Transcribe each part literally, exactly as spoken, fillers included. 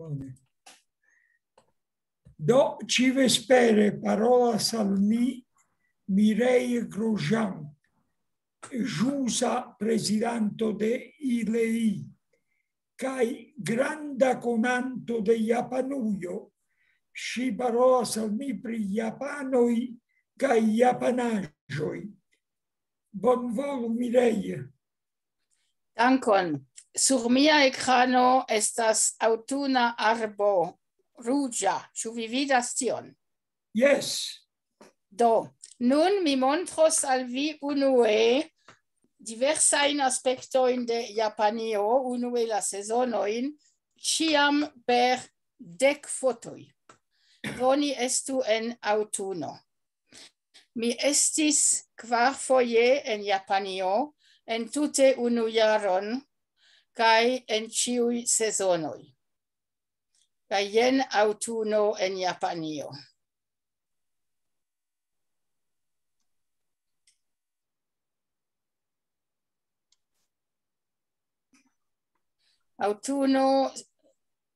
Bone. Do, ĉivespere parolas al mi Mireille Grosjean, ĵusa prezidanto de I L E I, kaj granda konanto de Japanujo. Ŝi parolas al mi pri japanoj kaj japanaĵoj. Bonvolu, Mireille. Dankon. Sur mia ekrano estas aŭtuna arbo ruĝa. Ĉu vi vidas tion? Jes. Do, nun mi montros al vi unue diversajn aspektojn de Japanio, unue la sezonojn, ĉiam per dek fotoj. Do ni estu en aŭtuno. Mi estis kvarfoje en Japanio, en tute unu jaron, kaj en ĉiuj sezonoj. Kaj jen aŭtuno en Japanio. Aŭtuno,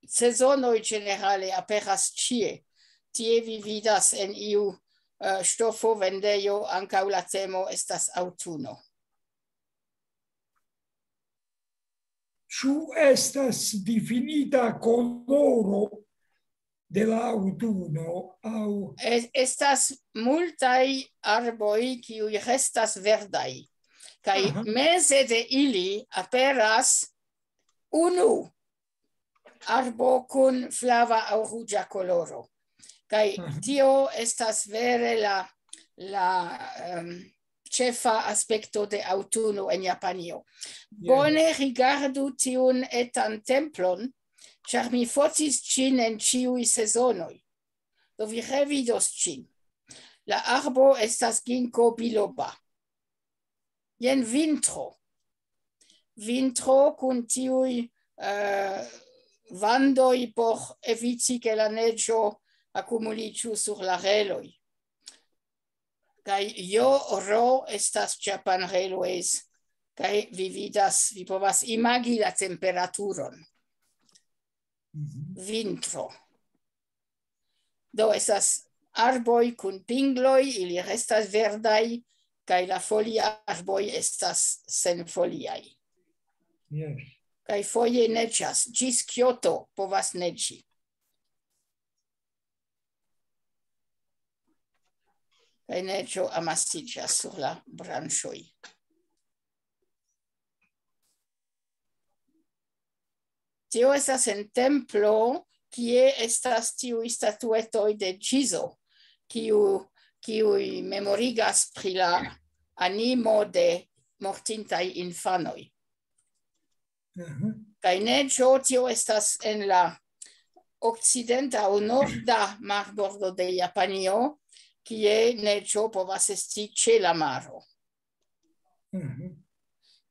sezonoj ĝenerale aperas ĉie. Tie vi vidas en iu, eh, ŝtofo vendejo, ankaŭ la temo estas aŭtuno. Ĉu estas difinita koloro de la aŭtuno aŭ... Es-, estas multaj arboj, kiuj restas verdaj. Kaj aha, meze de ili aperas unu arbo kun flava aŭ ruĝa koloro. Kaj aha, tio estas vere la, la, em, ĉefa aspekto de aŭtuno en Japanio. Jes. Bone rigardu tiun etan templon, ĉar mi fotis ĝin en ĉiuj sezonoj. Do vi revidos ĝin. La arbo estas ginkgo biloba. Jen vintro. Vintro kun tiuj, eh, vandoj por eviti, ke la neĝo akumuliĝu sur la reloj. Kaj J R O estas Japan Railways, kaj vi vidas, vi povas imagi la temperaturon. Mhm. Vintro. Do estas arboj kun pingloj, ili restas verdaj, kaj la foliarboj estas senfoliaj. Jes. Kaj foje neĝas, ĝis Kyoto povas neĝi. Kaj neĝo amasiĝas sur la branĉoj. Tio estas en templo, kie estas tiuj statuetoj de Ĝizo, kiu, kiuj memorigas pri la animo de mortintaj infanoj. Mhm. Kaj neĝo, tio estas en la okcidenta aŭ norda marbordo de Japanio, kie neĝo povas esti ĉe la maro. Mhm.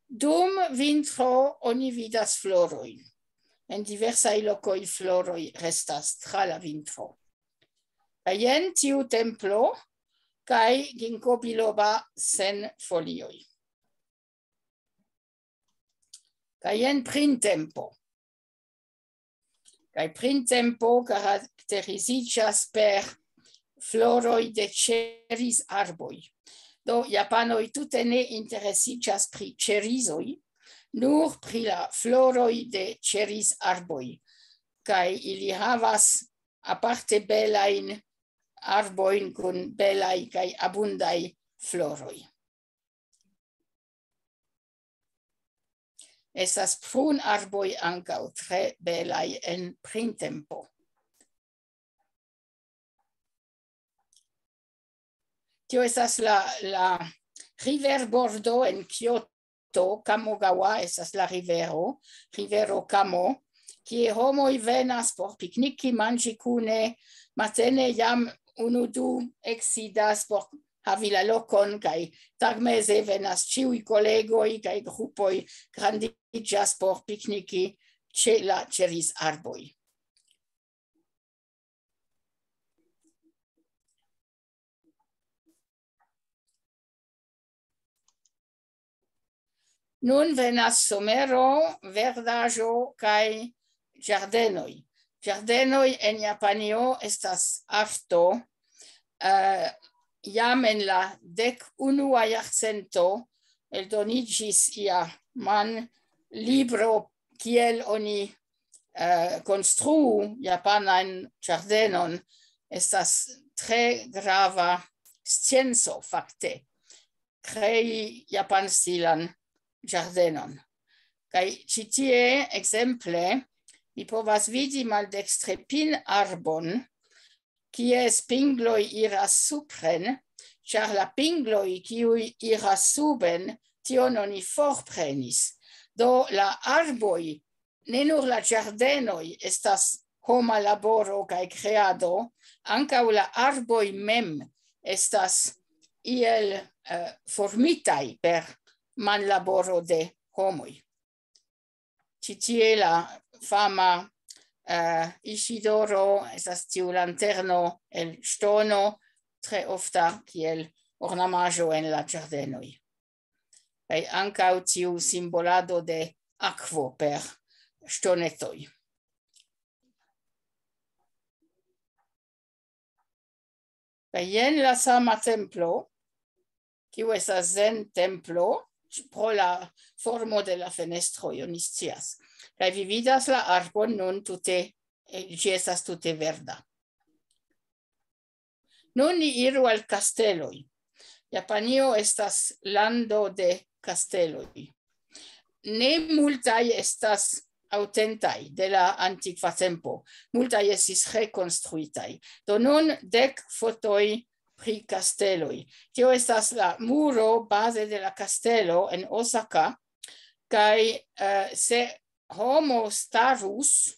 Dum vintro oni vidas florojn. En diversaj lokoj floroj restas tra la vintro. Kaj jen tiu templo kaj ginkgo biloba sen folioj. Kaj jen printempo. Kaj printempo karakteriziĝas per floroj de ĉerizarboj. Do, japanoj tute ne interesiĝas pri ĉerizoj, nur pri la floroj de ĉerizarboj. Kaj ili havas aparte belajn arbojn kun belaj kaj abundaj floroj. Estas prunarboj ankaŭ tre belaj en printempo. Tio estas la, la riverbordo en Kyoto, Kamogawa estas la rivero, rivero Kamo, kie homoj venas por pikniki, manĝi kune, matene jam unu du eksidas por havi la lokon, kaj tagmeze venas ĉiuj kolegoj kaj grupoj grandiĝas por pikniki ĉe la ĉerizarboj. Nun venas somero, verdaĵo kaj ĝardenoj. Ĝardenoj en Japanio estas arto. Eh, jam en la dek unua jarcento eldoniĝis ia man libro, kiel oni, eh, konstruu japanan ĝardenon. Estas tre grava scienco, fakte, krei japanstilan ĝardenon. Kaj ĉi tie, ekzemple, ni povas vidi maldekstre pin-arbon, kies pingloj iras supren, ĉar la pingloj, kiuj iras suben, tion oni forprenis. Do la arboj, ne nur la ĝardenoj estas homa laboro kaj kreado, ankaŭ la arboj mem estas iel, eh, formitaj per manlaboro de homoj. Ĉi tie la fama, eh, Isidoro estas tiu lanterno el ŝtono, tre ofta kiel ornamaĵo en la ĝardenoj. Kaj ankaŭ tiu simbolado de akvo per ŝtonetoj. Kaj jen la sama templo, kiu estas zen-templo, pro la formo de la fenestroj, oni scias. Kaj vi vidas la arbon nun tute, eh, ĝi estas tute verda. Nun ni iru al kasteloj. Japanio estas lando de kasteloj. Ne multaj estas aŭtentaj de la antikva tempo. Multaj estis rekonstruitaj. Do nun dek fotoj pri kasteloj. Tio estas la muro baze de la kastelo en Osaka. Kaj, eh, se homo starus,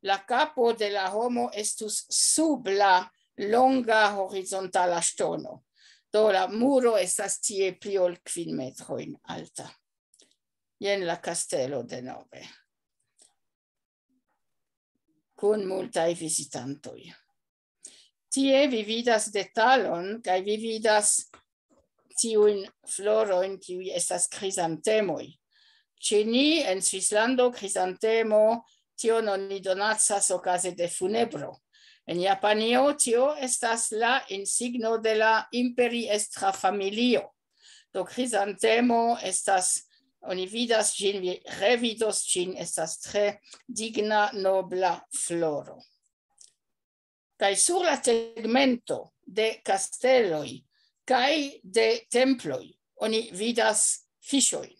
la kapo de la homo estus sub la longa horizontala ŝtono. Do la muro estas tie pli ol kvin metrojn alta. Jen la kastelo denove, kun multaj vizitantoj. Tie vi vidas detalon, kaj vi vidas tiujn florojn, kiuj estas krizantemoj. Ĉe ni en Svislando krizantemo, tion oni donacas okaze de funebro. En Japanio tio estas la insigno de la imperiestra familio. Do krizantemo estas, oni vidas ĝin, vi revidos ĝin, estas tre digna, nobla floro. Kaj sur la tegmento de kasteloj kaj de temploj oni vidas fiŝojn,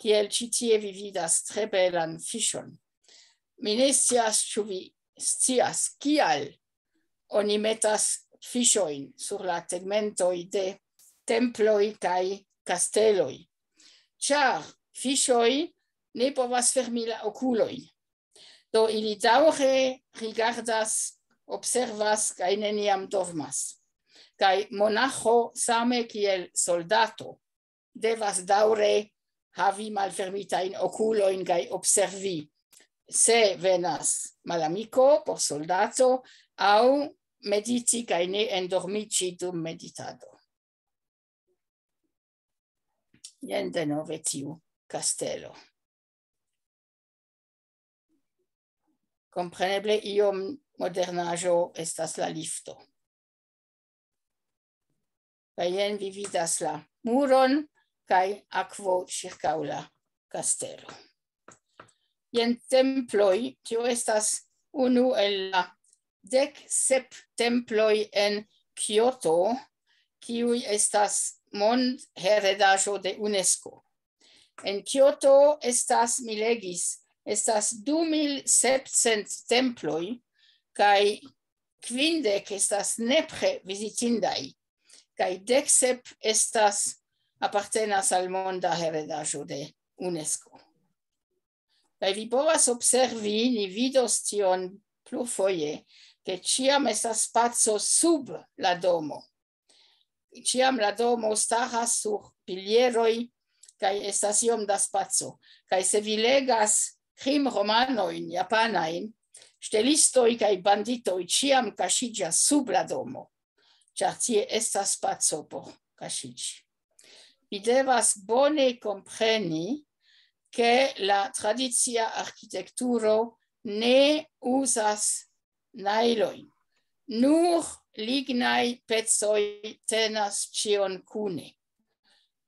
kiel ĉi tie vi vidas tre belan fiŝon. Mi ne scias, ĉu vi scias, kial oni metas fiŝojn sur la tegmentoj de temploj kaj kasteloj. Ĉar fiŝoj ne povas fermi la okulojn. Do ili daŭre rigardas, observas kaj neniam dormas. Kaj monaĥo, same kiel soldato, devas daŭre havi malfermitajn okulojn kaj observi, se venas malamiko por soldato, aŭ mediti kaj ne endormiĝi dum meditado. Jen denove tiu kastelo. Kompreneble iom modernaĵo estas la lifto. Kaj jen vi vidas la muron kaj akvo ĉirkaŭ la kastelo. Jen temploj, tio estas unu el la dek sep temploj en Kioto, kiuj estas mondheredaĵo de UNESCO. En Kioto estas, mi legis, estas du mil sepcent temploj, kaj kvindek estas nepre vizitindaj, kaj dek sep estas, apartenas al monda heredaĵo de UNESCO. Kaj vi povas observi, ni vidos tion plurfoje, ke ĉiam estas spaco sub la domo. Ĉiam la domo staras sur pilieroj, kaj estas iom da spaco. Kaj se vi legas krimromanojn japanajn, ŝtelistoj kaj banditoj ĉiam kaŝiĝas sub la domo, ĉar tie estas spaco por kaŝiĝi. Vi devas bone kompreni, ke la tradicia arkitekturo ne uzas najlojn. Nur lignaj pecoj tenas ĉion kune.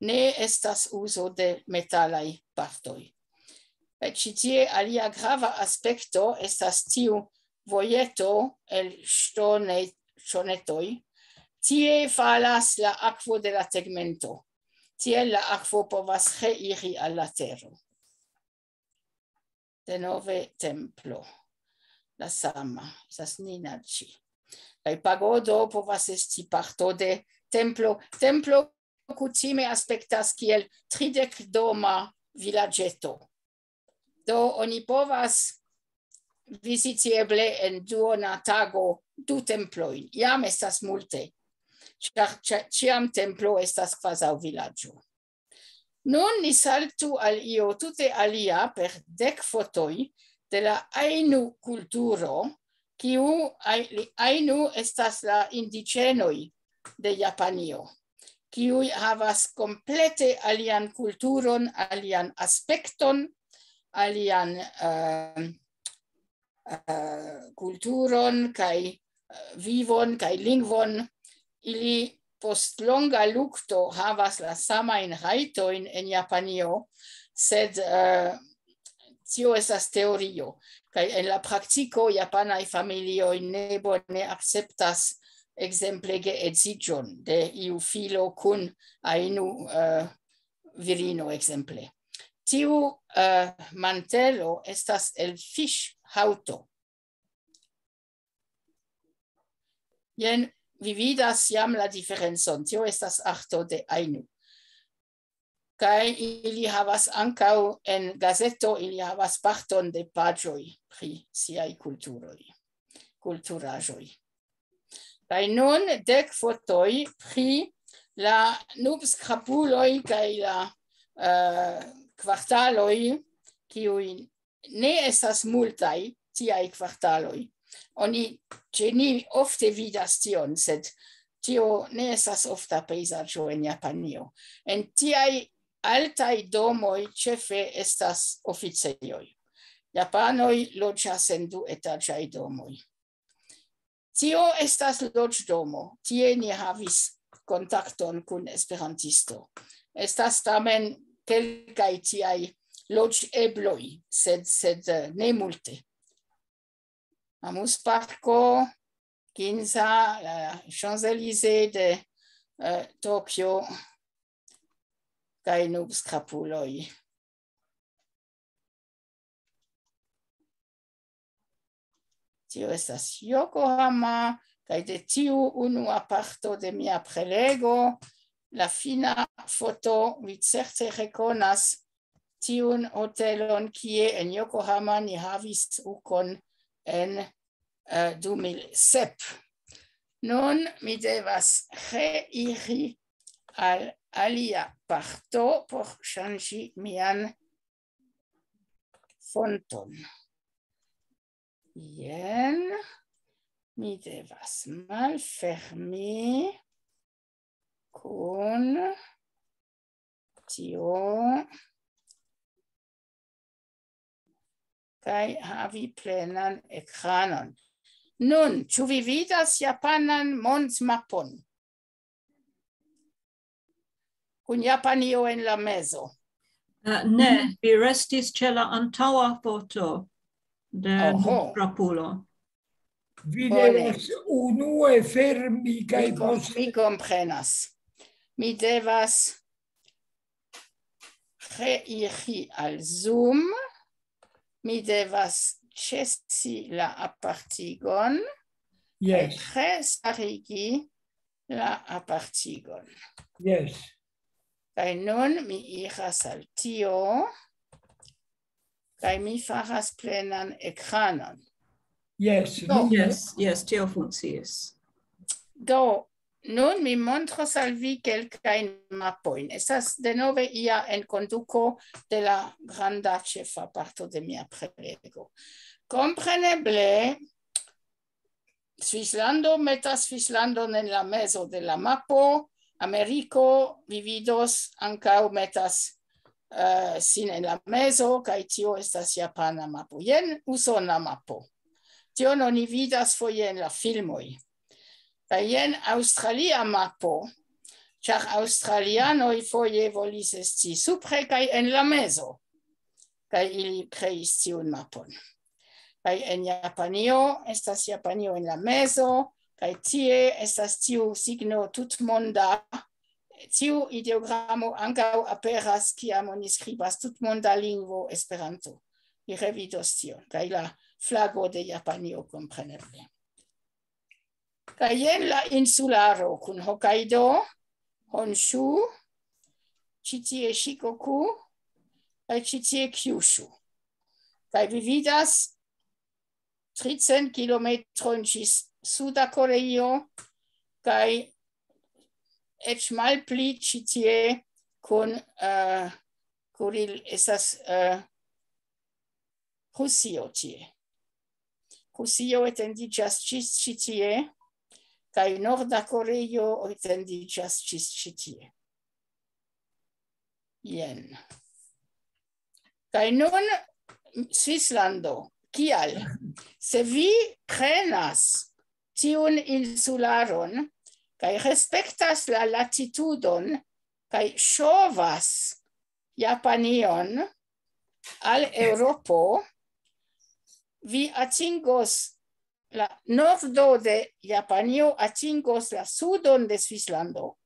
Ne estas uzo de metalaj partoj. Kaj ĉi tie alia grava aspekto estas tiu vojeto el ŝtone-, ŝtonetoj. Tie falas la akvo de la tegmento. Tiel la akvo povas reiri al la tero. Denove templo. La sama, estas Ninaĉi. Kaj pagodo povas esti parto de templo. Templo kutime aspektas kiel tridek doma vilaĝeto. Do oni povas viziti eble en duona tago du templojn. Jam estas multe, ĉar ĉa-, ĉiam templo estas kvazaŭ vilaĝo. Nun ni saltu al io tute alia per dek fotoj de la Ainu kulturo, kiu Ai-, li-, Ainu estas la indiĝenoj de Japanio, kiuj havas komplete alian kulturon, alian aspekton, alian, eh, eh, kulturon kaj, eh, vivon kaj lingvon. Ili post longa lukto havas la samajn rajtojn en Japanio, sed, eh, tio estas teorio. Kaj en la praktiko japanaj familioj ne bone akceptas ekzemple geedziĝon de iu filo kun Ainu, eh, virino ekzemple. Tiu, eh, mantelo estas el fiŝhaŭto. Jen vi vidas jam la diferencon. Tio estas arto de Ainu. Kaj ili havas ankaŭ en gazeto, ili havas parton de paĝoj pri siaj kulturoj, kulturaĵoj. Kaj nun dek fotoj pri la nubskrapuloj kaj la, eh, kvartaloj, kiuj ne estas multaj tiaj kvartaloj. Oni ĉe ni ofte vidas tion, sed tio ne estas ofta pejzaĝo en Japanio. En tiaj altaj domoj ĉefe estas oficejoj. Japanoj loĝas en duetaĝaj domoj. Tio estas loĝdomo. Tie ni havis kontakton kun esperantisto. Estas tamen kelkaj tiaj loĝebloj, sed, sed, eh, ne multe. Amusparko, Ginza, la Champs-Élysées de, eh, Tokio, kaj nubskrapuloj. Tio estas Yokohama, kaj de tiu unua parto de mia prelego, la fina foto, vi certe rekonas tiun hotelon, kie en Yokohama ni havis ukon en, eh, du mil sep. Nun mi devas reiri al alia parto por ŝanĝi mian fonton. Jen, mi devas malfermi kun tio kaj havi plenan ekranon. Nun, ĉu vi vidas japanan mondmapon? Kun Japanio en la mezo. Eh, ne, vi restis ĉe la antaŭa foto de Oho. Nubskrapulo. Vi Bone. Devas unue fermi kaj Mi, kom- poste mi komprenas. Mi devas reiri al Zoom. Mi devas ĉesi la apartigon. Yes, Restarigi la apartigon. Yes. Kaj nun mi iras al tio. Kaj mi faras plenan ekranon. Yes. No. Yes, yes, tio funkcias. Do, nun mi montros al vi kelkajn mapojn. Estas denove ia enkonduko de la granda ĉefa parto de mia prelego. Kompreneble, Svislando metas Svislandon en la mezo de la mapo, Ameriko, vi vidos, ankaŭ metas, eh, sin en la mezo, kaj tio estas japana mapo. Jen usona mapo. Tion oni vidas foje en la filmoj. Kaj jen aŭstralia mapo, ĉar aŭstralianoj foje volis esti supre kaj en la mezo. Kaj ili kreis tiun mapon. Kaj en Japanio estas Japanio en la mezo, kaj tie estas tiu signo tutmonda. Tiu ideogramo ankaŭ aperas, kiam oni skribas tutmonda lingvo Esperanto. Vi revidos tion. Kaj la flago de Japanio, kompreneble. Kaj jen la insularo kun Hokkaido, Honshu, ĉi tie Shikoku, kaj ĉi tie Kyushu. Kaj vi vidas tricent kilometrojn ĝis Suda Koreio, kaj eĉ malpli ĉi tie kun, eh, Kuril estas, eh, Rusio tie. Rusio etendiĝas ĝis ĉi tie, kaj Norda Koreio etendiĝas ĝis ĉi tie. Jen. Kaj nun Svislando. Kial? Se vi prenas tiun insularon kaj respektas la latitudon kaj ŝovas Japanion al Eŭropo, vi atingos la nordo de Japanio, atingos la sudon de Svislando,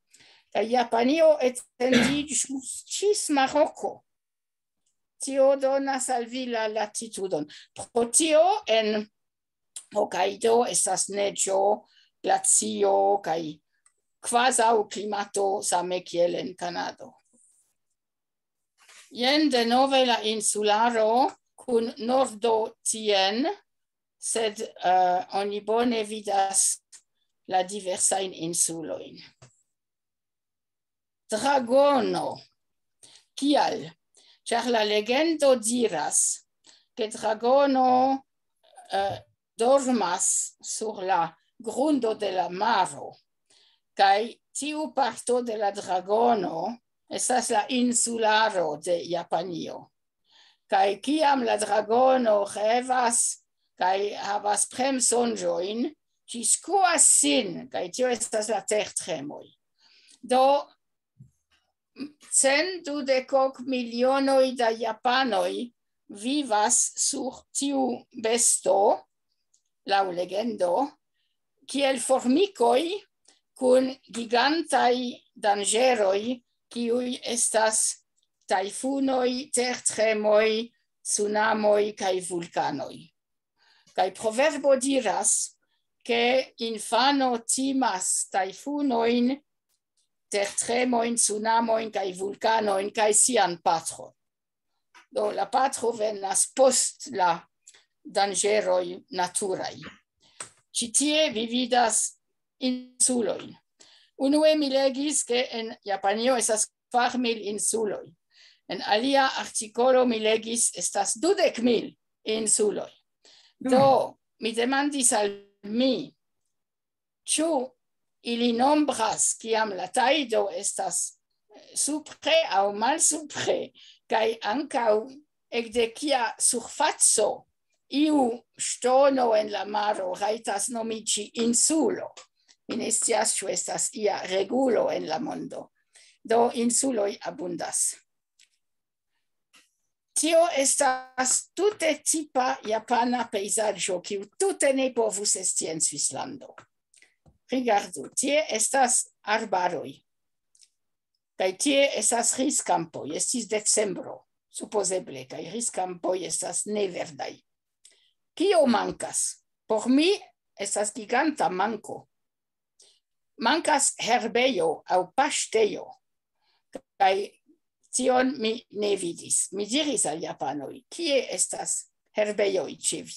kaj Japanio etendiĝus ĝis Maroko. Tio donas al vi la latitudon. Pro tio en Hokkaido estas neĝo, glacio kaj kvazaŭ klimato same kiel en Kanado. Jen denove la insularo kun nordo tien, sed, eh, oni bone vidas la diversajn insulojn. Dragono. Kial? Ĉar la legendo diras, ke dragono, eh, dormas sur la grundo de la maro, kaj tiu parto de la dragono estas la insularo de Japanio. Kaj kiam la dragono revas kaj havas premsonĝojn, ĝi skuas sin, kaj tio estas la tertremoj. Do, cent dudek ok milionoj da japanoj vivas sur tiu besto, laŭ legendo, kiel formikoj kun gigantaj danĝeroj, kiuj estas tajfunoj, tertremoj, tsunamoj kaj vulkanoj. Kaj proverbo diras, ke infano timas tajfunojn, tertremojn, tsunamojn kaj vulkanojn kaj sian patron. Do la patro venas post la danĝeroj naturaj. Ĉi tie vi vidas insulojn. Unue mi legis, ke en Japanio estas kvar mil insuloj. En alia artikolo mi legis, estas dudek mil insuloj. Do, mi demandis al mi, ĉu ili nombras, kiam la tajdo estas supre aŭ malsupre, kaj ankaŭ ekde kia surfaco iu ŝtono en la maro rajtas nomiĝi insulo. Mi ne scias, ĉu estas ia regulo en la mondo. Do insuloj abundas. Tio estas tute tipa japana pejzaĝo, kiu tute ne povus esti en Svislando. Rigardu, tie estas arbaroj. Kaj tie estas riskampoj. Estis decembro, supozeble, kaj riskampoj estas neverdaj. Kio mankas? Por mi estas giganta manko. Mankas herbejo aŭ paŝtejo. Kaj tion mi ne vidis. Mi diris al japanoj, kie estas herbejoj ĉe vi?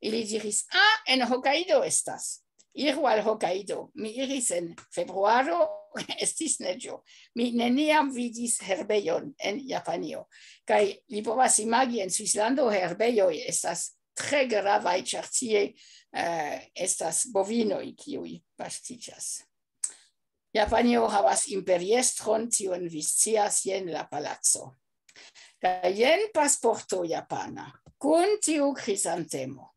Ili diris, ah, en Hokkaido estas. Iru al Hokkaido. Mi iris en februaro, estis neĝo. Mi neniam vidis herbejon en Japanio. Kaj vi povas imagi, en Svislando herbejoj estas tre gravaj, ĉar tie, eh, estas bovinoj, kiuj pastiĝas. Japanio havas imperiestron, tion vi scias, jen la palaco. Kaj jen pasporto japana, kun tiu krizantemo.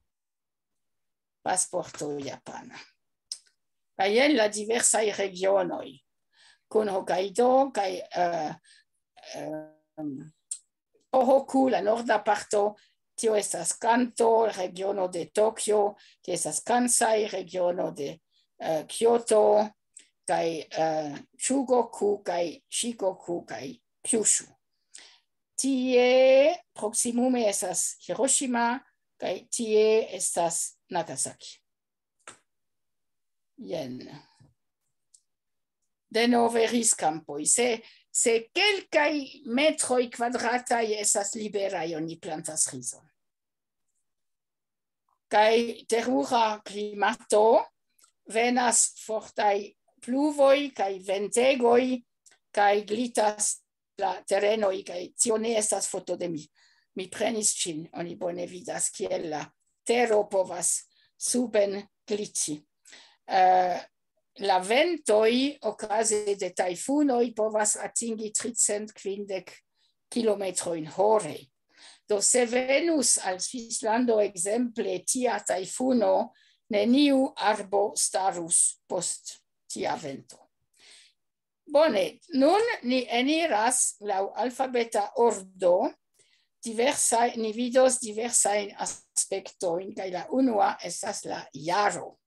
Pasporto japana. Kaj jen la diversaj regionoj, kun Hokkaido kaj, eh, em, Tohoku, la norda parto, tio estas Kanto, regiono de Tokio, tio estas Kansai, regiono de, eh, Kyoto, kaj, eh, Chugoku, kaj Shikoku, kaj Kyushu. Tie proksimume estas Hiroshima, kaj tie estas Nagasaki. Jen. Denove riskampoj. Se, se kelkaj metroj kvadrataj estas liberaj, oni plantas rizon. Kaj terura klimato, venas fortaj pluvoj kaj ventegoj, kaj glitas la terenoj, kaj tio ne estas foto de mi. Mi prenis ĝin, oni bone vidas, kiel la tero povas suben gliti. Eh, la ventoj okaze de tajfunoj povas atingi tricent kvindek kilometrojn hore. Do se venus al Svislando ekzemple tia tajfuno, neniu arbo starus post tia vento. Bone, nun ni eniras laŭ alfabeta ordo, diversaj, ni vidos diversajn aspektojn, kaj la unua estas la jaro.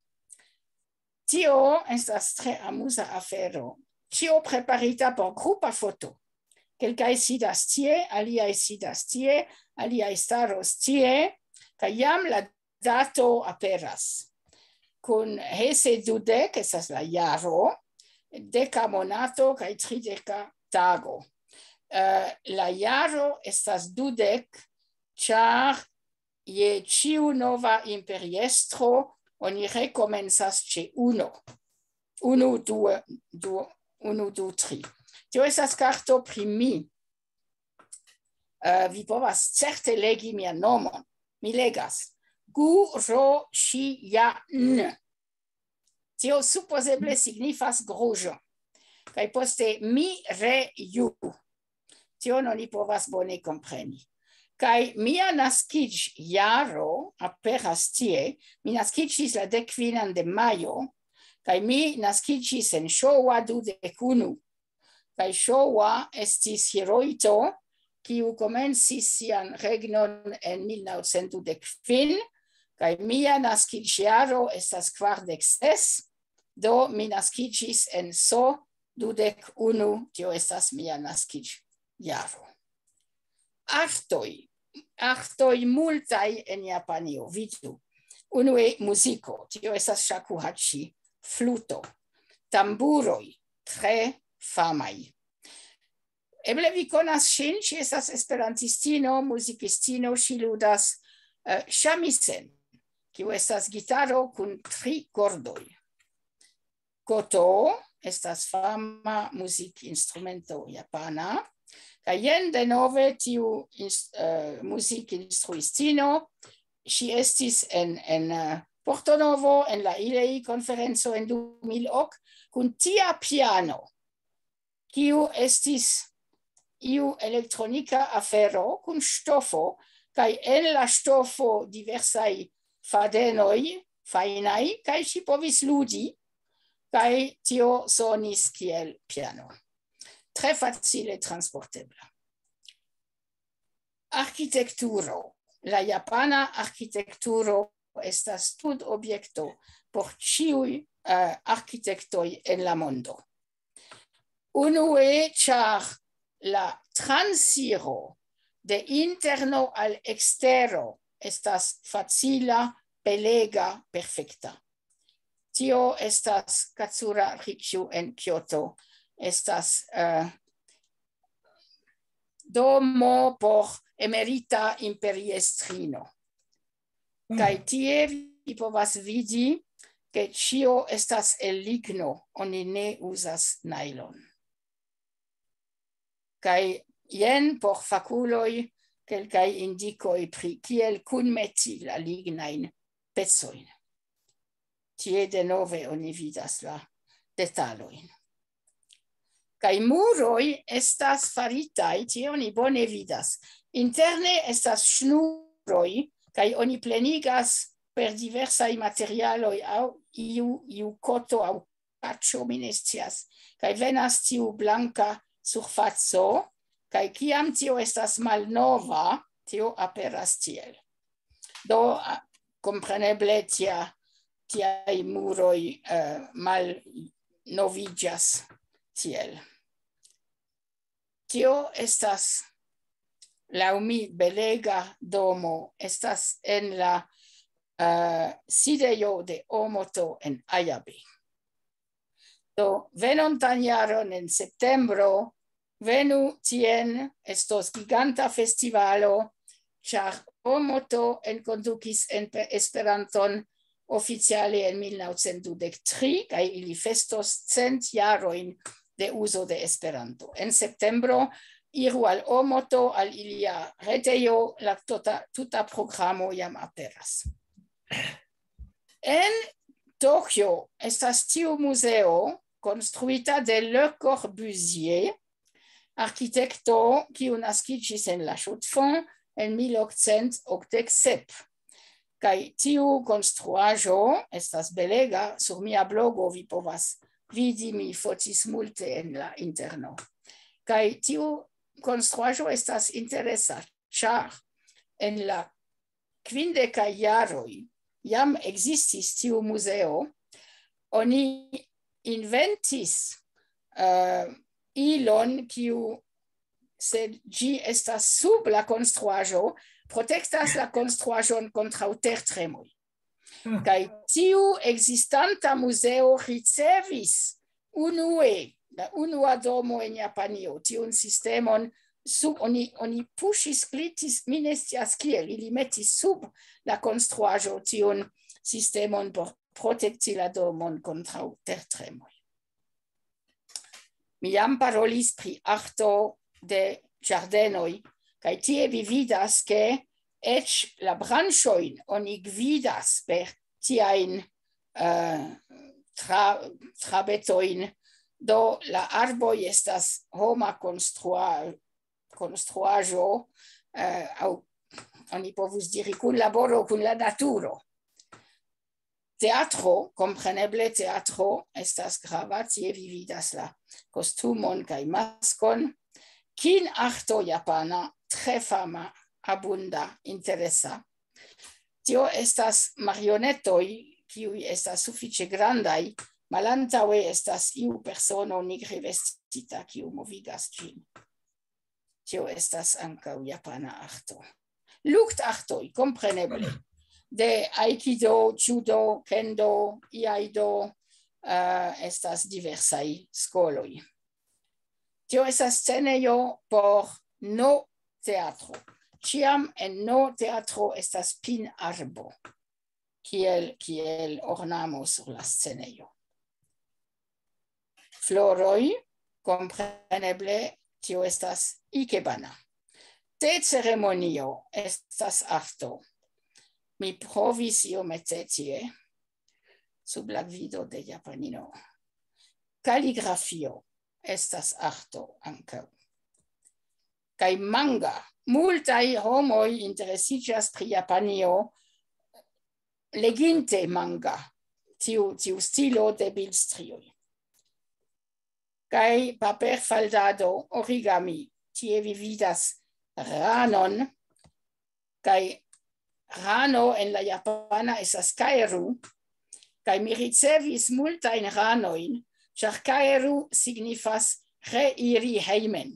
Tio estas tre amuza afero. Ĉio preparita por grupa foto. Kelkaj sidas tie, aliaj sidas tie, aliaj staros tie, kaj jam la dato aperas. Kun Hese dudek estas la jaro, deka monato kaj trideka tago. Eh, la jaro estas dudek, ĉar je ĉiu nova imperiestro oni rekomencas ĉe uno. Unu, du, du, unu, du, tri. Tio estas karto pri mi. Eh, vi povas certe legi mian nomon. Mi legas. Gu ro shi ja n. Tio supozeble signifas gruĝo. Kaj poste mi re ju. Tion oni povas bone kompreni. Kaj mia naskiĝjaro aperas tie. Mi naskiĝis la dek kvinan de majo, kaj mi naskiĝis en Showa dudek unu. Kaj Showa estis Hirohito, kiu komencis sian regnon en mil naŭcent dudek kvin, kaj mia naskiĝjaro estas kvardek ses, do mi naskiĝis en So dudek unu, tio estas mia naskiĝjaro. Artoj, artoj multaj en Japanio, vidu. Unue muziko, tio estas shakuhachi, fluto, tamburoj, tre famaj. Eble vi konas ŝin, ŝi estas esperantistino, muzikistino, ŝi ludas, eh, shamisen, kiu estas gitaro kun tri kordoj. Koto estas fama muzikinstrumento japana. Kaj jen denove tiu ins-, eh, muzikinstruistino, ŝi estis en, en, eh, Porto Novo en la ILEI konferenco en du mil ok kun tia piano, kiu estis iu elektronika afero kun ŝtofo, kaj en la ŝtofo diversaj fadenoj fajnaj, kaj ŝi povis ludi, kaj tio sonis kiel piano. Tre facile transportebla. Arkitekturo. La japana arkitekturo estas studobjekto por ĉiuj, eh, arkitektoj en la mondo. Unue, ĉar la transiro de interno al ekstero estas facila, belega, perfekta. Tio estas Katsura Rikju en Kyoto. Estas, eh, domo por emerita imperiestrino. Kaj tie vi povas vidi, ke ĉio estas el ligno, oni ne uzas najlon. Kaj jen por fakuloj kelkaj indikoj pri kiel kunmeti la lignajn pecojn. Tie denove oni vidas la detalojn. Kaj muroj estas faritaj, tie oni bone vidas. Interne estas ŝnuroj, kaj oni plenigas per diversaj materialoj aŭ iu, iu koto aŭ kaĉo, mi ne scias. Kaj venas tiu blanka surfaco, kaj kiam tio estas malnova, tio aperas tiel. Do, a, kompreneble tia, tiaj muroj, eh, malnoviĝas tiel. Tio estas, laŭ mi, belega domo. Estas en la, eh, sidejo de Omoto en Ayabe. Do, venontan jaron en septembro, venu tien, estos giganta festivalo, ĉar Omoto enkondukis en pe-, Esperanton oficiale en mil naŭcent dudek tri, kaj ili festos cent jarojn de uzo de Esperanto. En septembro, iru al Omoto, al ilia retejo, la tota, tuta programo jam aperas. En Tokio estas tiu muzeo konstruita de Le Corbusier, arkitekto kiu naskiĝis en la Chaux-de-Fonds en mil okcent okdek sep. Kaj tiu konstruaĵo estas belega, sur mia blogo vi povas vidi, mi fotis multe en la interno. Kaj tiu konstruaĵo estas interesa, ĉar en la kvindekaj jaroj jam ekzistis tiu muzeo, oni inventis, eh, ilon, kiu, se ĝi estas sub la konstruaĵo, protektas la konstruaĵon kontraŭ tertremoj. Hmm. Kaj tiu ekzistanta muzeo ricevis unue, la unua domo en Japanio, tiun sistemon sub, oni, oni puŝis, glitis, mi ne scias kiel, ili metis sub la konstruaĵo tiun sistemon por protekti la domon kontraŭ tertremoj. Mi jam parolis pri arto de ĝardenoj, kaj tie vi vidas, ke eĉ la branĉojn oni gvidas per tiajn, eh, tra-, trabetojn. Do la arboj estas homa konstrua-, konstruaĵo, eh, aŭ oni povus diri kunlaboro kun la naturo. Teatro, kompreneble teatro estas grava, tie vi vidas la kostumon kaj maskon. Kin-arto japana, tre fama, abunda, interesa. Tio estas marionetoj, kiuj estas sufiĉe grandaj. Malantaŭe estas iu persono nigre vestita, kiu movigas ĝin. Tio estas ankaŭ japana arto. Luktartoj, kompreneble. De aikido, judo, kendo, iaido, eh, estas diversaj skoloj. Tio estas scenejo por no teatro. Ĉiam en no teatro estas pin-arbo, kiel, kiel ornamo sur la scenejo. Floroj, kompreneble, tio estas ikebana. Te-ceremonio estas arto. Mi provis iomete tie, sub la gvido de japanino. Kaligrafio estas arto ankaŭ. Kaj manga. Multaj homoj interesiĝas pri Japanio leginte manga, tiu, tiu stilo de bildstrioj. Kaj paperfaldado, origami. Tie vi vidas ranon, kaj rano en la japana estas kaeru, kaj mi ricevis multajn ranojn, ĉar kaeru signifas reiri hejmen.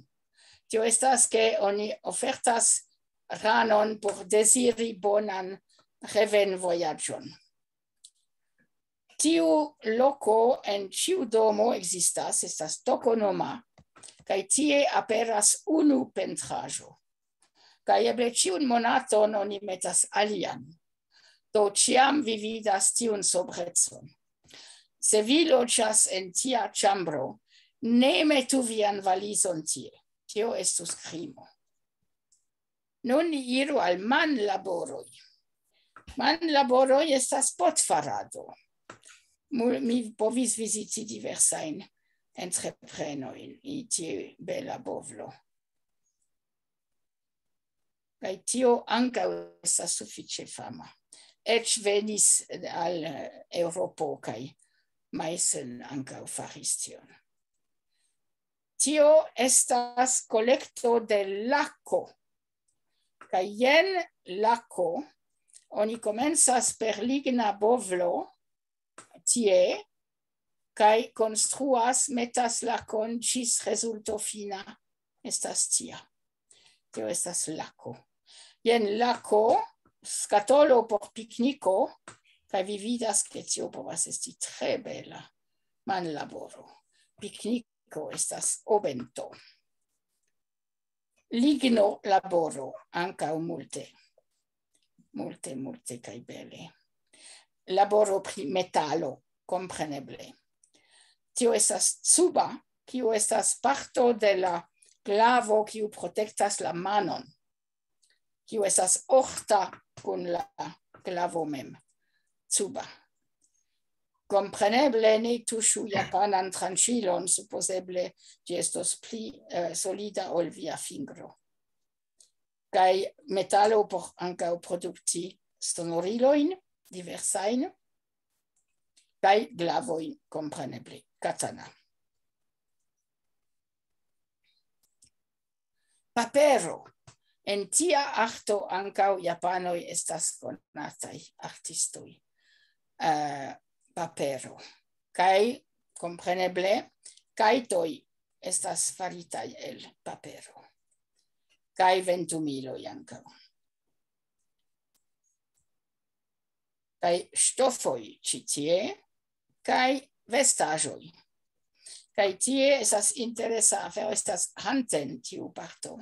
Tio estas, ke oni ofertas ranon por deziri bonan revenvojaĝon. Tiu loko en ĉiu domo ekzistas, estas tokonoma, kaj tie aperas unu pentraĵo. Kaj eble ĉiun monaton oni metas alian. Do ĉiam vi vidas tiun sobrecon. Se vi loĝas en tia ĉambro, ne metu vian valizon tie. Tio estus krimo. Nun ni iru al manlaboroj. Manlaboroj estas potfarado. Mu-, mi povis viziti diversajn entreprenojn, i tiu bela bovlo. Kaj tio ankaŭ estas sufiĉe fama. Eĉ venis al, eh, Eŭropo kaj Meissen ankaŭ faris tion. Tio estas kolekto de lako. Kaj jen lako, oni komencas per ligna bovlo, tie, kaj konstruas, metas lakon ĝis rezulto fina estas tia. Tio estas lako. Jen lako, skatolo por pikniko, kaj vi vidas, ke tio povas esti tre bela manlaboro. Pikniko estas obento. Ligno laboro ankaŭ multe. Multe, multe kaj bele. Laboro pri metalo, kompreneble. Tio estas cuba, kiu estas parto de la glavo, kiu protektas la manon, kiu estas ofta kun la glavo mem. Cuba. Kompreneble ne tuŝu japanan tranĉilon, supozeble ĝi estos pli, eh, solida ol via fingro. Kaj metalo por ankaŭ produkti sonorilojn diversajn, kaj glavojn, kompreneble, katana. Papero. En tia arto ankaŭ japanoj estas konataj artistoj. Eh, papero. Kaj, kompreneble, kajtoj estas faritaj el papero. Kaj ventumiloj ankaŭ. Kaj ŝtofoj ĉi tie, kaj vestaĵoj. Kaj tie estas interesa afero, estas Hanten tiu parto.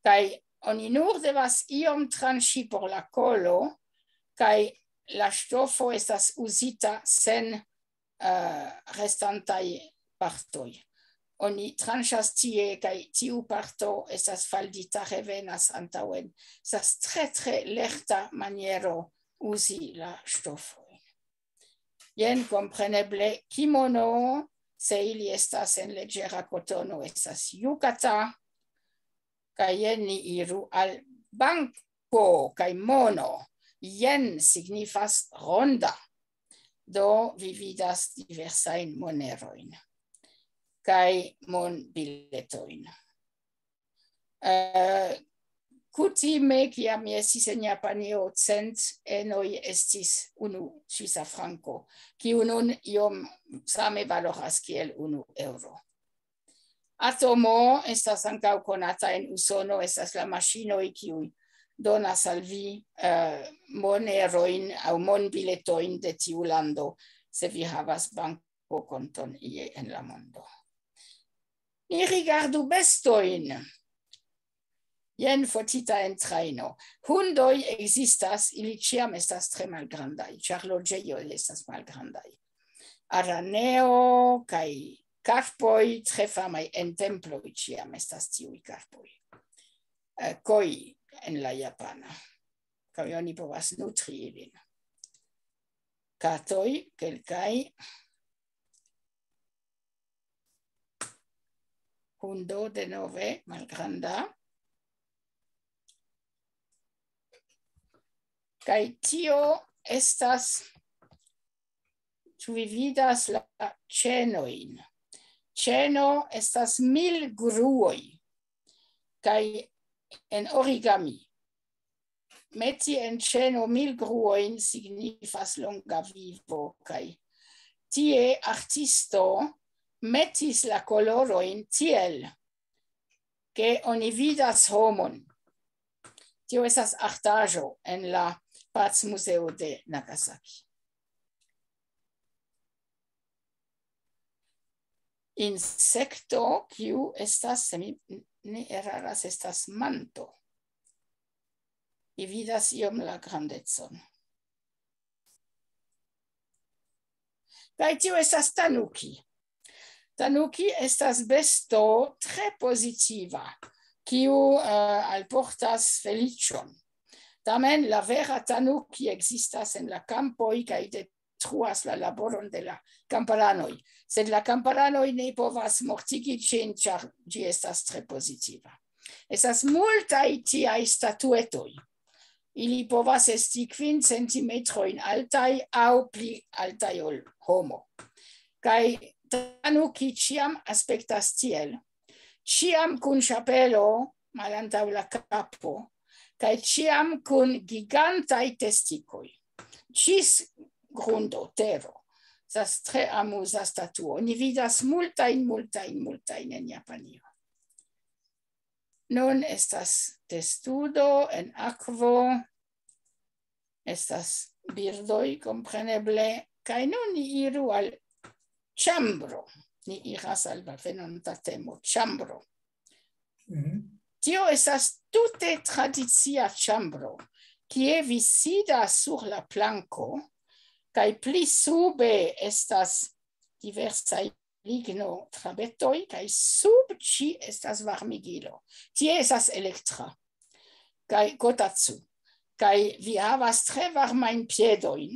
Kaj oni nur devas iom tranĉi por la kolo, kaj la ŝtofo estas uzita sen, eh, restantaj partoj. Oni tranĉas tie, kaj tiu parto estas faldita, revenas antaŭen. Estas tre, tre lerta maniero uzi la ŝtofojn. Jen kompreneble kimono, se ili estas en leĝera kotono, estas yukata. Kaj jen ni iru al banko kaj mono. Jen signifas ronda. Do vi vidas diversajn monerojn kaj monbiletojn. Eh, kutime, kiam mi estis en Japanio, cent enoj estis unu svisa franko, kiu nun iom same valoras kiel unu eŭro. Atomo estas ankaŭ konata en Usono, estas la maŝinoj, kiuj donas al vi, eh, monerojn aŭ monbiletojn de tiu lando, se vi havas bankokonton ie en la mondo. Ni rigardu bestojn. Jen fotita en trajno. Hundoj ekzistas, ili ĉiam estas tre malgrandaj, ĉar loĝejoj estas malgrandaj. Araneo kaj karpoj, tre famaj en temploj, ĉiam estas tiuj karpoj. Eh, koi en la japana. Kaj oni povas nutri ilin. Katoj, kelkaj. Hundo denove, malgranda. Kaj tio estas, ĉu vi vidas la ĉenojn? Ĉeno estas mil gruoj. Kaj en origami, meti en ĉeno mil gruojn signifas longa vivo, kaj tie artisto metis la kolorojn tiel, ke oni vidas homon. Tio estas artaĵo en la Pacmuzeo de Nagasaki. Insekto, kiu estas, se mi ne eraras, estas manto. Vi vidas iom la grandecon. Kaj tio estas tanuki. Tanuki estas besto tre pozitiva, kiu, eh, alportas feliĉon. Tamen la vera tanuki ekzistas en la kampoj kaj de detruas la laboron de la kamparanoj. Sed la kamparanoj ne povas mortigi ĝin, ĉar ĝi estas tre pozitiva. Estas multaj tiaj statuetoj. Ili povas esti kvin centimetrojn altaj aŭ pli altaj ol homo. Kaj Tanuki ĉiam aspektas tiel, ĉiam kun ŝapelo malantaŭ la kapo, kaj ĉiam kun gigantaj testikoj, ĝis grundo, tero. Estas tre amuza statuo. Ni vidas multajn, multajn, multajn en Japanio. Nun estas testudo en akvo. Estas birdoj, kompreneble. Kaj nun ni iru al ĉambro. Ni iras al la venonta temo, ĉambro. Mhm. Tio estas tute tradicia ĉambro, kie vi sidas sur la planko, kaj pli sube estas diversaj ligno trabetoj, kaj sub ĝi estas varmigilo. Tie estas elektra, kaj kotatsu. Kaj vi havas tre varmajn piedojn,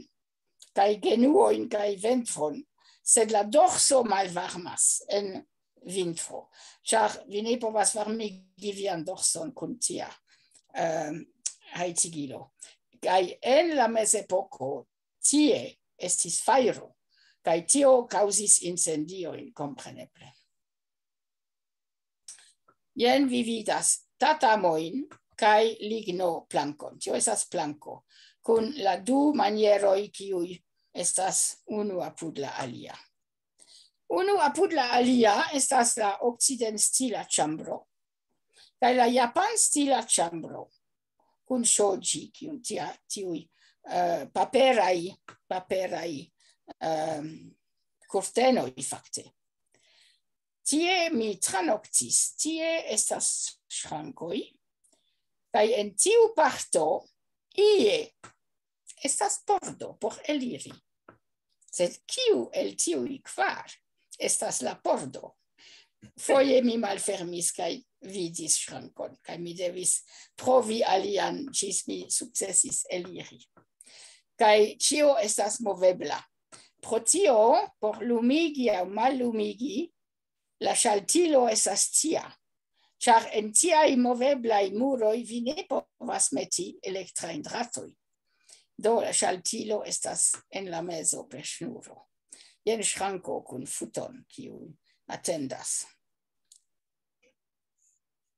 kaj genuojn, kaj ventron, sed la dorso malvarmas en vintro, ĉar vi ne povas varmigi vian dorson kun tia, ehm, hajcigilo. Kaj en la mezepoko tie estis fajro, kaj tio kaŭzis incendiojn, kompreneble. Jen vi vidas tatamojn kaj ligno plankon. Tio estas planko, kun la du manieroj, kiuj estas unu apud la alia. Unu apud la alia estas la okcidentstila ĉambro, kaj la japanstila ĉambro, kun ŝoji, kiun tia, tiuj, eh, paperaj, paperaj, ehm, kurtenoj, fakte. Tie mi tranoktis, tie estas ŝrankoj, kaj en tiu parto ie estas pordo por eliri. Sed kiu el tiuj kvar estas la pordo? Foje mi malfermis kaj vidis ŝrankon, kaj mi devis provi alian, ĝis mi sukcesis eliri. Kaj ĉio estas movebla. Pro tio, por lumigi aŭ mallumigi, la ŝaltilo estas tia, ĉar en tiaj moveblaj muroj vi ne povas meti elektrajn dratojn. Do, la ŝaltilo estas en la mezo per ŝnuro. Jen ŝranko kun futon, kiu atendas.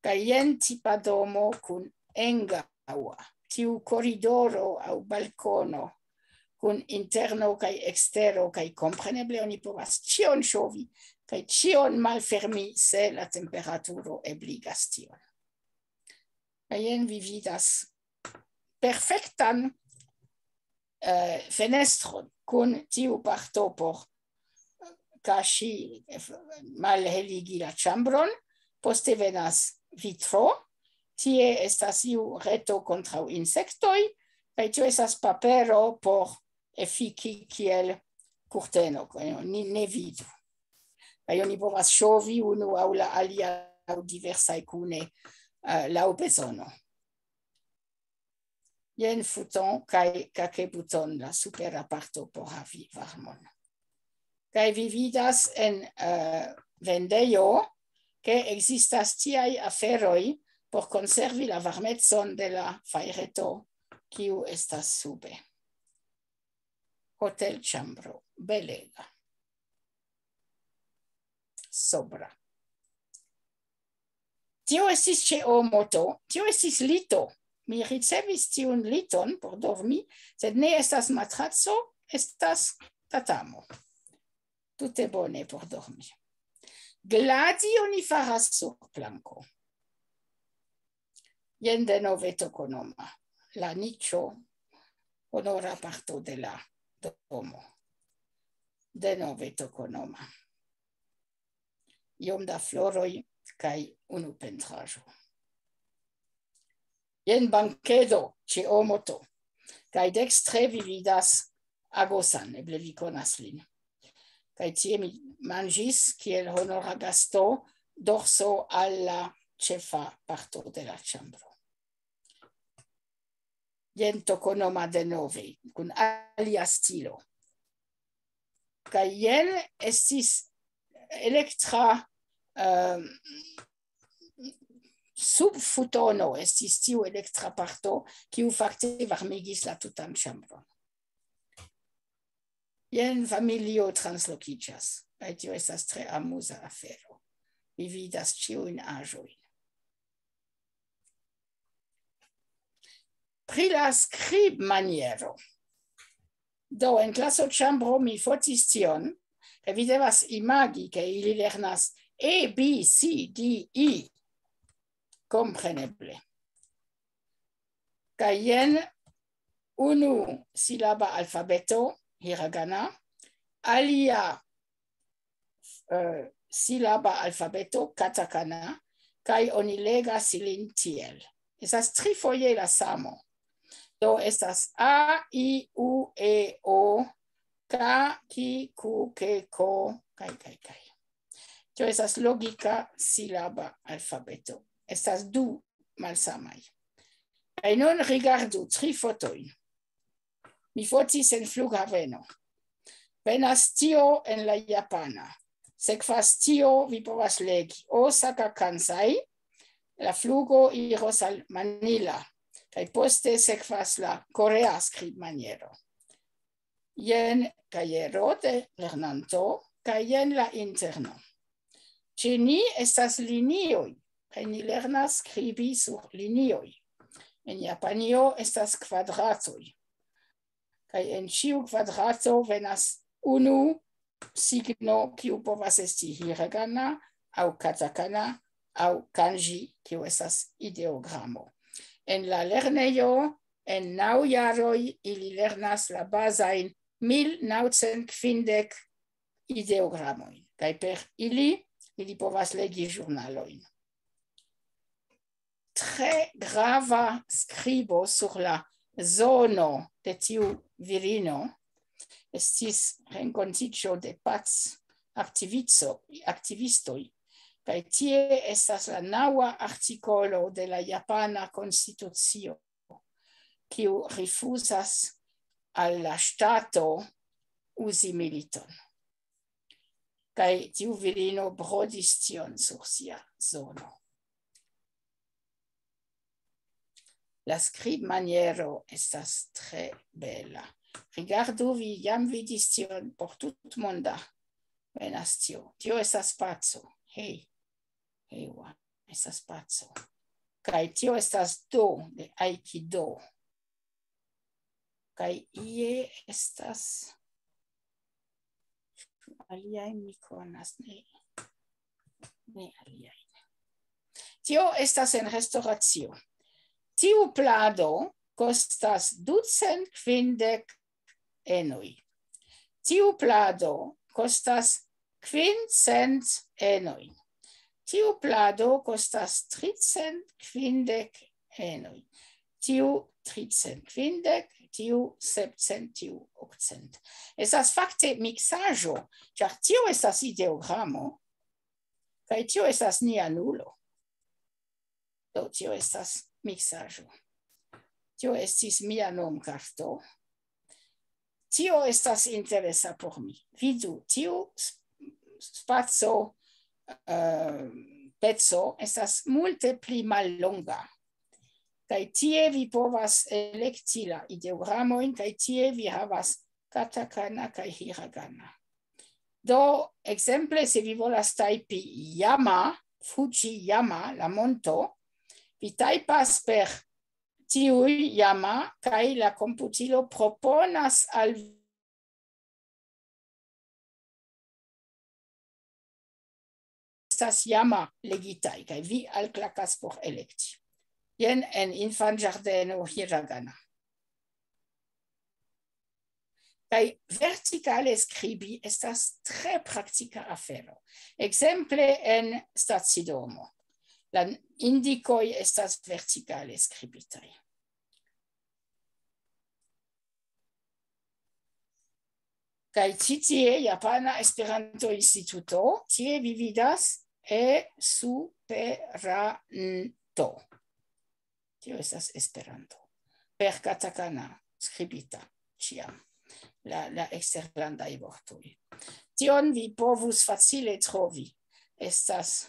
Kaj jen tipa domo kun engaŭa, tiu koridoro aŭ balkono, kun interno kaj ekstero, kaj kompreneble oni povas ĉion ŝovi, kaj ĉion malfermi, se la temperaturo ebligas tion. Kaj jen vi vidas perfektan, eh, fenestron kun tiu parto por kaŝi, eh, malheligi la ĉambron. Poste venas vitro, tie estas iu reto kontraŭ insektoj, kaj tio estas papero por efiki kiel kurteno, ni ne vidu. Kaj oni povas ŝovi unu aŭ la alia aŭ diversaj kune, eh, laŭ bezono. Jen futon kaj kakebuton, la supera parto por havi varmon. Kaj vi vidas en, eh, vendejo, ke ekzistas tiaj aferoj por konservi la varmecon de la fajreto, kiu estas sube. Hotelĉambro, belega. Sobra. Tio estis ĉe Omoto, tio estis lito. Mi ricevis tiun liton por dormi, sed ne estas matraco, estas tatamo. Tute bone por dormi. Gladi oni faras sur planko. Jen denove Tokonoma, la niĉo, honora parto de la domo. Denove Tokonoma. Iom da floroj kaj unu pentraĵo. Jen bankedo ĉe Omoto. Kaj dekstre vi vidas Agosan, eble vi konas lin. Kaj tie mi manĝis kiel honora gasto dorso al la ĉefa parto de la ĉambro. Jen Tokonoma denove, kun alia stilo. Kaj jen estis elektra, ehm, subfutono, estis tiu elektra parto, kiu fakte varmigis la tutan ĉambron. Jen familio translokiĝas, kaj tio estas tre amuza afero. Vi vidas ĉiujn aĵojn. Pri la skribmaniero. Do, en klasoĉambro mi fotis tion, kaj vi devas imagi, ke ili lernas A, B, C, D, E. Kompreneble. Kaj jen unu silaba alfabeto, hiragana, alia, eh, silaba alfabeto, katakana, kaj oni legas ilin tiel. Estas trifoje la samo. Do estas A, I, U, E, O, K, K, Q, K, K, kaj, kaj, kaj. Tio estas logika silaba alfabeto. Estas du malsamaj. Kaj nun rigardu tri fotojn. Mi fotis en flughaveno. Venas tio en la japana. Sekvas tio, vi povas legi. Osaka Kansai, la flugo iros al Manila. Kaj poste sekvas la korea skribmaniero. Jen kajero de lernanto, kaj jen la interno. Ĉe ni estas linioj, kaj ni lernas skribi sur linioj. En Japanio estas kvadratoj. Kaj en ĉiu kvadrato venas unu signo, kiu povas esti hiragana aŭ katakana aŭ kanji, kiu estas ideogramo. En la lernejo, en naŭ jaroj, ili lernas la bazajn mil naŭcent kvindek ideogramojn, kaj per ili, ili povas legi ĵurnalojn. Tre grava skribo sur la zono de tiu virino estis renkontiĝo de pac aktivico-, aktivistoj, kaj tie estas la naŭa artikolo de la japana konstitucio, kiu rifuzas al la ŝtato uzi militon. Kaj tiu virino brodis tion sur sia zono. La skribmaniero estas tre bela. Rigardu, vi jam vidis tion por tutmonda. Venas tio. Tio estas paco. Hej. Hejwa. Estas paco. Kaj tio estas do de aikido. Kaj ie estas aliaj mi konas, ne, ne aliaj. Tio estas en restoracio. Tiu plado kostas ducent kvindek enoj. Tiu plado kostas kvincent enoj. Tiu plado kostas tricent kvindek enoj. Tiu tricent kvindek, tiu sepcent, tiu okcent. Estas fakte miksaĵo, ĉar tio estas ideogramo, kaj tio estas nia nulo. Do, tio estas miksaĵo. Tio estis mia nomkarto. Tio estas interesa por mi. Vidu, tiu s-, spaco, eh, peco estas multe pli mallonga. Kaj tie vi povas elekti la ideogramojn, kaj tie vi havas katakana kaj hiragana. Do, ekzemple, se vi volas tajpi Yama, Fujiyama, la monto, vi tajpas per tiuj Yama, kaj la komputilo proponas al vi estas Yama legitaj, kaj vi alklakas por elekti. Jen en infanĝardeno hiragana. Kaj vertikale skribi estas tre praktika afero. Ekzemple en stacidomo. La indikoj estas vertikale skribitaj. Kaj ĉi tie Japana Esperanto-Instituto, tie vi vidas e superanto. Tio estas Esperanto. Per katakana skribita ĉiam. la, la eksterlandaj vortoj. Tion vi povus facile trovi. Estas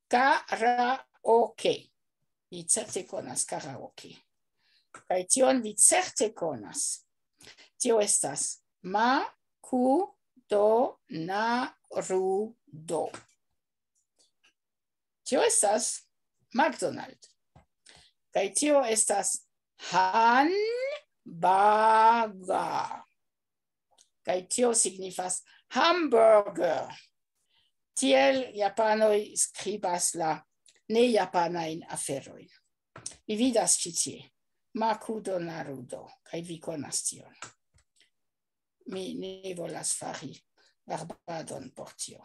karaoke. Vi certe konas karaoke. Kaj tion vi certe konas. Tio estas ma ku do na ru do. Tio estas McDonald. Kaj tio estas han baga. Kaj tio signifas hamburger. Tiel japanoj skribas la nejapanajn aferojn. Vi vidas ĉi tie. Makudo Narudo, kaj vi konas tion. Mi ne volas fari varbadon por tio.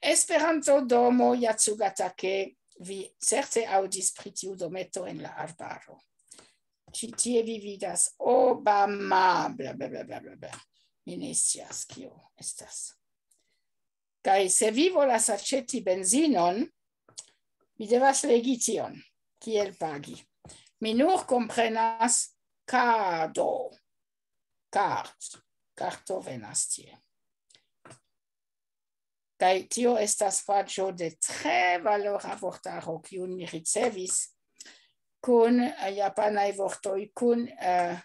Esperanto domo Yatsugatake, vi certe aŭdis pri tiu dometo en la arbaro. Ĉi tie vi vidas Obama, bla, bla, bla, bla, bla, bla. Mi ne scias kio estas. Kaj se vi volas aĉeti benzinon, vi devas legi tion, kiel pagi. Mi nur komprenas kado. Kart. Karto venas tie. Kaj tio estas paĝo de tre valora vortaro, kiun mi ricevis kun, eh, japanaj vortoj, kun, eh,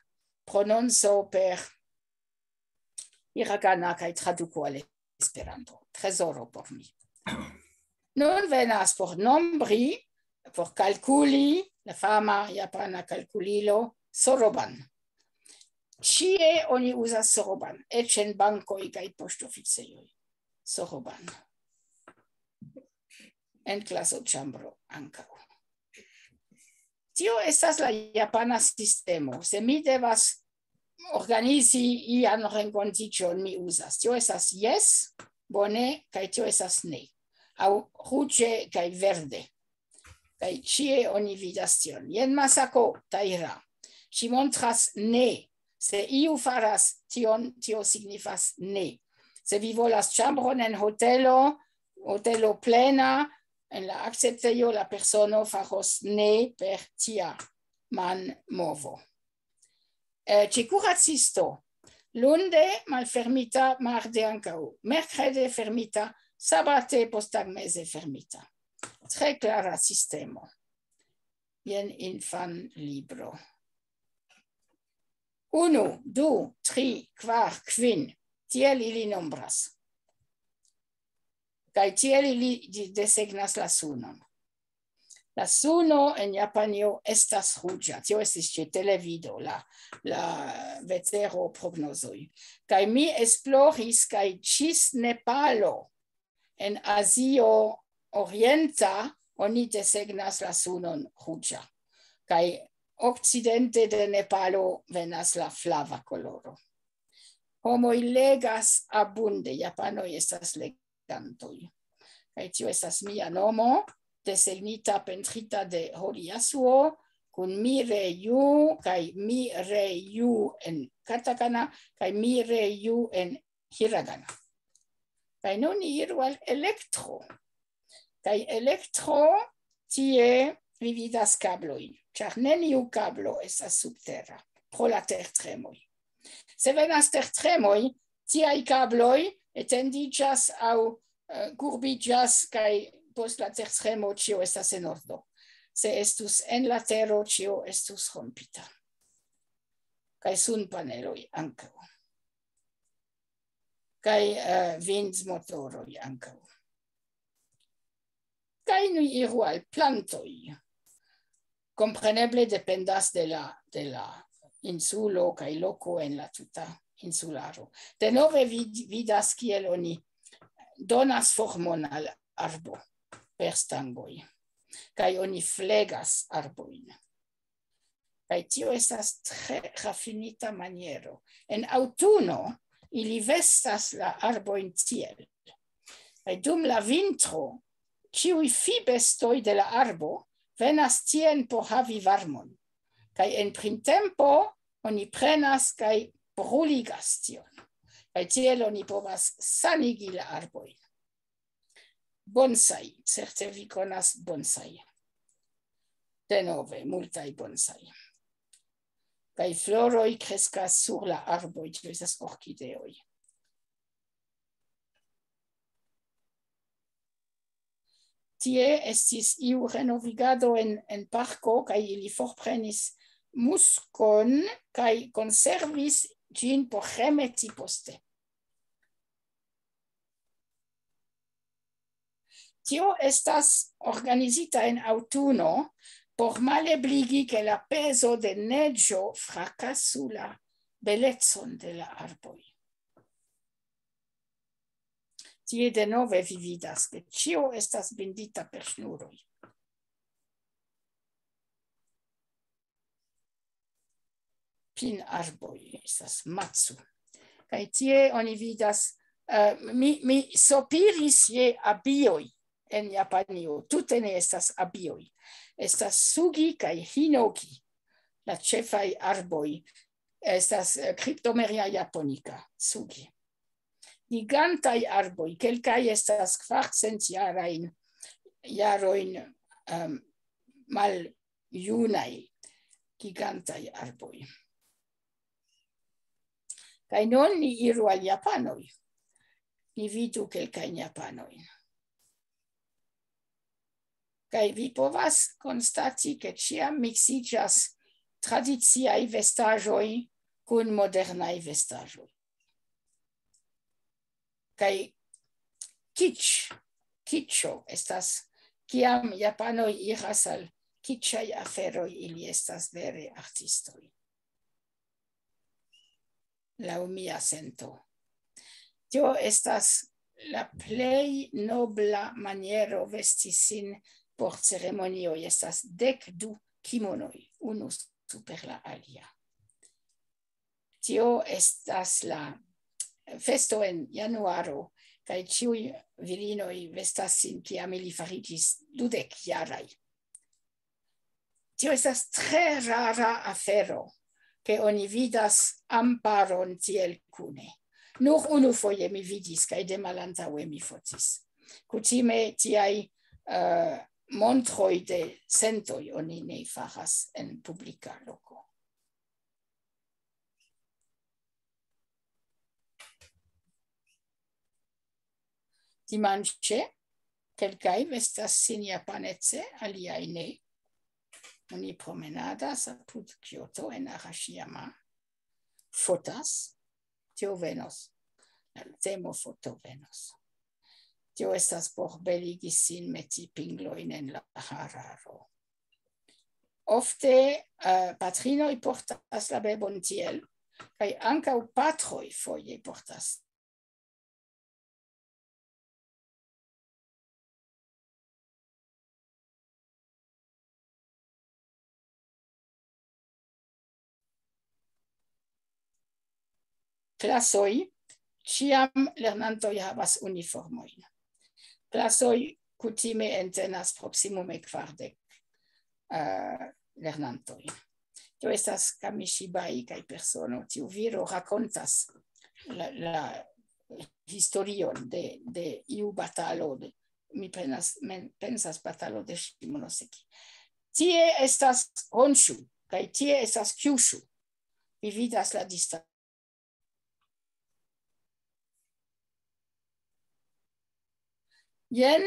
prononco per hiragana kaj traduko al Esperanto. Trezoro por mi. Nun venas por nombri, por kalkuli, la fama japana kalkulilo, soroban. Ĉie oni uzas soroban, eĉ en bankoj kaj poŝtoficejoj. Soroban. En klasoĉambro ankaŭ. Tio estas la japana sistemo. Se mi devas organizi ian renkontiĝon, mi uzas. Tio estas jes, bone, kaj tio estas ne. Aŭ ruĝe kaj verde. Kaj ĉie oni vidas tion. Jen Masako Taira. Ŝi montras ne. Se iu faras tion, tio signifas ne. Se vi volas ĉambron en hotelo, hotelo plena, en la akceptejo la persono faros ne per tia manmovo. Eh, ĉe kuracisto, lunde malfermita, marde ankaŭ, merkrede fermita, sabate posttagmeze fermita. Tre klara sistemo. Jen infan libro. Unu, du, tri, kvar, kvin. Tiel ili nombras. Kaj tiel ili di-, desegnas la sunon. La suno en Japanio estas ruĝa. Tio estis ĉe televido, la, la vetero prognozoj. Kaj mi esploris, kaj ĝis Nepalo en Azio Orienta oni desegnas la sunon ruĝa. Kaj okcidente de Nepalo venas la flava koloro. Homoj legas abunde, japanoj estas legantoj. Kaj tio estas mia nomo, desegnita, pentrita de Hori Yasuo, kun Mireyu, kaj Mireyu en katakana, kaj Mireyu en hiragana. Kaj nun ni iru al elektro. Kaj elektro, tie vi vidas kablojn, ĉar neniu kablo estas subtera, pro la tertremoj. Se venas tertremoj, tiaj kabloj etendiĝas aŭ, eh, kurbiĝas, kaj post la tertremo ĉio estas en ordo. Se estus en la tero, ĉio estus rompita. Kaj sunpaneloj ankaŭ. Kaj, eh, vindmotoroj ankaŭ. Kaj ni iru al plantoj. Kompreneble dependas de la, de la insulo kaj loko en la tuta insularo. Denove vid-, vidas kiel oni donas formon al arbo per stangoj. Kaj oni flegas arbojn. Kaj tio estas tre rafinita maniero. En aŭtuno ili vestas la arbojn tiel. Kaj dum la vintro, ĉiuj fibestoj de la arbo venas tien por havi varmon. Kaj en printempo oni prenas kaj bruligas tion. Kaj tiel oni povas sanigi la arbojn. Bonsai, certe vi konas bonsai. Denove, multaj bonsai. Kaj floroj kreskas sur la arboj, tio estas orkideoj. Tie estis iu renovigado en, en parko, kaj ili forprenis muskon kaj konservis ĝin por remeti poste. Tio estas organizita en aŭtuno por malebligi, ke la pezo de neĝo frakasu la belecon de la arboj. Tie denove vi vidas, ke ĉio estas bindita per ŝnuroj. Pin arboj estas macu. Kaj tie oni vidas, eh, mi, mi sopiris je abioj en Japanio. Tute ne estas abioj. Estas sugi kaj hinoki, la ĉefaj arboj. Estas, eh, Cryptomeria japonica, sugi. Gigantaj arboj, kelkaj estas kvarcent jarajn, jarojn, em, maljunaj, gigantaj arboj. Kaj nun ni iru al japanoj. Ni vidu kelkajn japanojn. Kaj vi povas konstati, ke ĉiam miksiĝas tradiciaj vestaĵoj kun modernaj vestaĵoj. Kaj kitsch, kitscho estas, kiam japanoj iras al kitschaj aferoj, ili estas vere artistoj. Laŭ mia sento. Tio estas la plej nobla maniero vesti sin por ceremonioj. Estas dek du kimonoj, unu super la alia. Tio estas la festo en januaro, kaj ĉiuj virinoj vestas sin, kiam ili fariĝis dudek jaraj. Tio estas tre rara afero, ke oni vidas amparon tiel kune. Nur unu foje mi vidis, kaj de malantaŭe mi fotis. Kutime tiaj, eh, montroj de sentoj oni ne faras en publika loko. Dimanĉe, kelkaj vestas sin japanece, aliaj ne. Oni promenadas apud Kyoto en Arashiyama. Fotas, tio venos. La temo foto venos. Tio estas por beligi sin, meti pinglojn en la hararo. Ofte, eh, patrinoj portas la bebon tiel, kaj ankaŭ patroj foje portas. Klasoj, ĉiam lernantoj havas uniformojn. Klasoj kutime entenas proksimume kvardek, eh, lernantoj. Tio estas Kamishibai kaj persono, tiu viro rakontas la, la historion de, de iu batalo, de, mi penas, men, pensas batalo de Shimonoseki. Tie estas Honshu, kaj tie estas Kyushu. Vi vidas la distanco. Jen,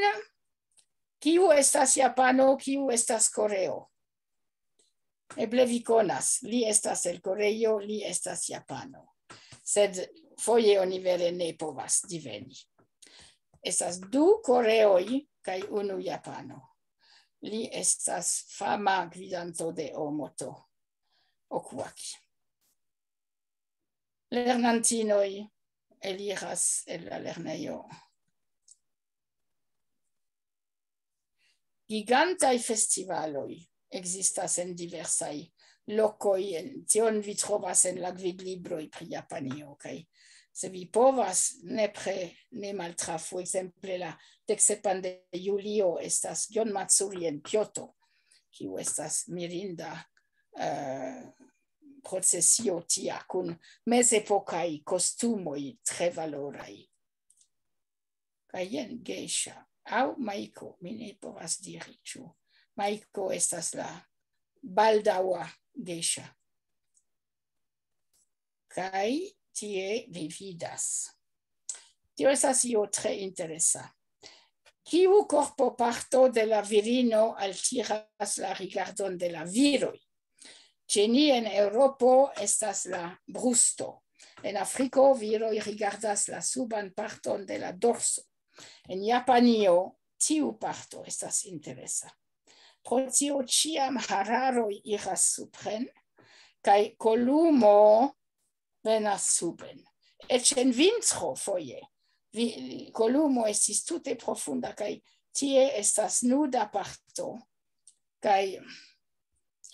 kiu estas Japano, kiu estas Koreo. Eble vi konas, li estas el Koreio, li estas Japano. Sed foje oni vere ne povas diveni. Estas du Koreoj kaj unu Japano. Li estas fama gvidanto de Omoto, Okuaki. Lernantinoj eliras el la lernejo. Gigantaj festivaloj ekzistas en diversaj lokoj. En, tion vi trovas en la gvidlibroj pri Japanio, kaj se vi povas, nepre ne maltrafu. Ekzemple, la dek sepan de julio estas Gion Matsuri en Kyoto, kiu estas mirinda, eh, procesio tia kun mezepokaj kostumoj tre valoraj. Kaj jen geisha, aŭ maiko, mi ne povas diri, ĉu maiko estas la baldaŭa geisha. Kaj tie vi vidas. Tio estas io tre interesa. Kiu korpoparto de la virino altiras la rigardon de la viroj? Ĉe ni en Eŭropo estas la brusto. En Afriko viroj rigardas la suban parton de la dorso. En Japanio tiu parto estas interesa. Pro tio ĉiam hararoj iras supren, kaj kolumo venas suben. Eĉ en vintro foje. Vi, kolumo estis tute profunda, kaj tie estas nuda parto, kaj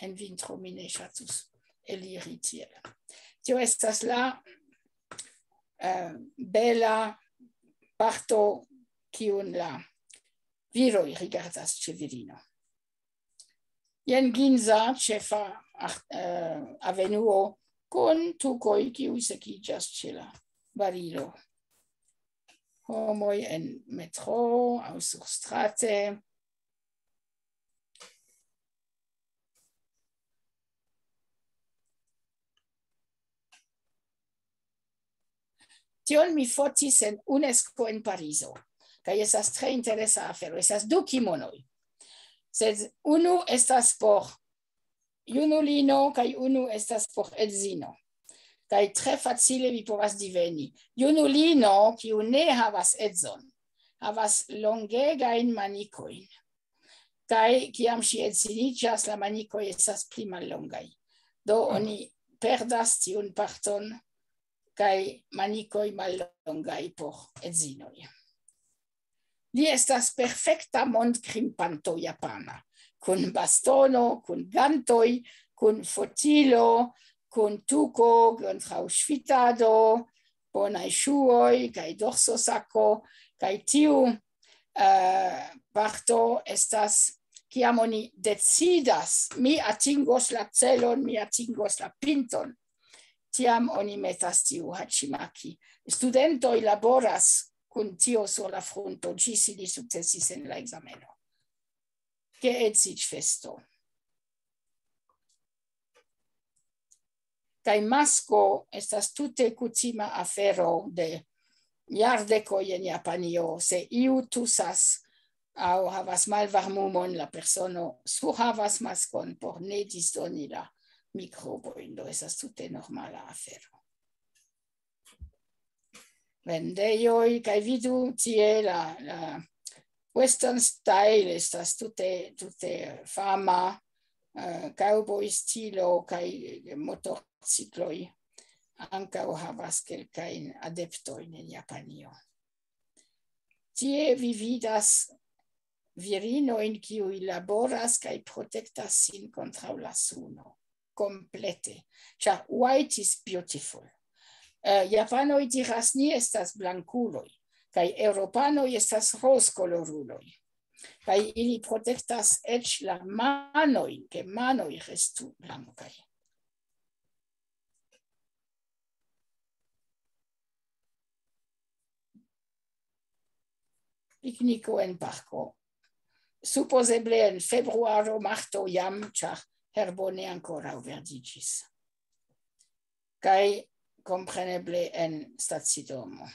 en vintro mi ne ŝatus eliri tiel. Tio estas la, eh, bela parto, kiun la viroj rigardas ĉe virino. Jen Ginza, ĉefa, ah, eh, avenuo, kun tukoj, kiuj sekiĝas ĉe la barilo. Homoj en metro aŭ surstrate. Tion mi fotis en UNESCO en Parizo. Kaj estas tre interesa afero. Estas du kimonoj. Sed unu estas por junulino, kaj unu estas por edzino. Kaj tre facile vi povas diveni. Junulino, kiu ne havas edzon, havas longegajn manikojn. Kaj kiam ŝi edziniĝas, la manikoj estas pli mallongaj. Do oni perdas tiun parton, kaj manikoj mallongaj por edzinoj. Li estas perfekta mondkrimpanto japana, kun bastono, kun gantoj, kun fotilo, kun tuko kontraŭ ŝvitado, bonaj ŝuoj kaj dorsosako, kaj tiu, eh, parto estas, kiam oni decidas, "Mi atingos la celon, mi atingos la pinton", tiam oni metas tiu hachimaki. Studentoj laboras kun tio sur la frunto, ĝis ili sukcesis en la ekzameno. Geedziĝfesto. Kaj masko estas tute kutima afero de jardekoj en Japanio. Se iu tusas aŭ havas malvarmumon, la persono surhavas maskon por ne disdoni la mikrobojn. Do estas tute normala afero. Vendejoj, kaj vidu tie la, la Western Style estas tute, tute fama, eh, cowboy stilo, kaj motorcikloj ankaŭ havas kelkajn adeptojn en Japanio. Tie vi vidas virinojn, kiuj laboras kaj protektas sin kontraŭ la suno. Komplete. Ĉar white is beautiful. Eh, japanoj diras, "Ni estas blankuloj", kaj eŭropanoj estas rozkoloruloj. Kaj ili protektas eĉ la manojn, ke manoj restu blankaj. Pikniko en parko. Supozeble en februaro, marto jam, ĉar herbo ne ankoraŭ verdiĝis. Kaj kompreneble en stacidomo.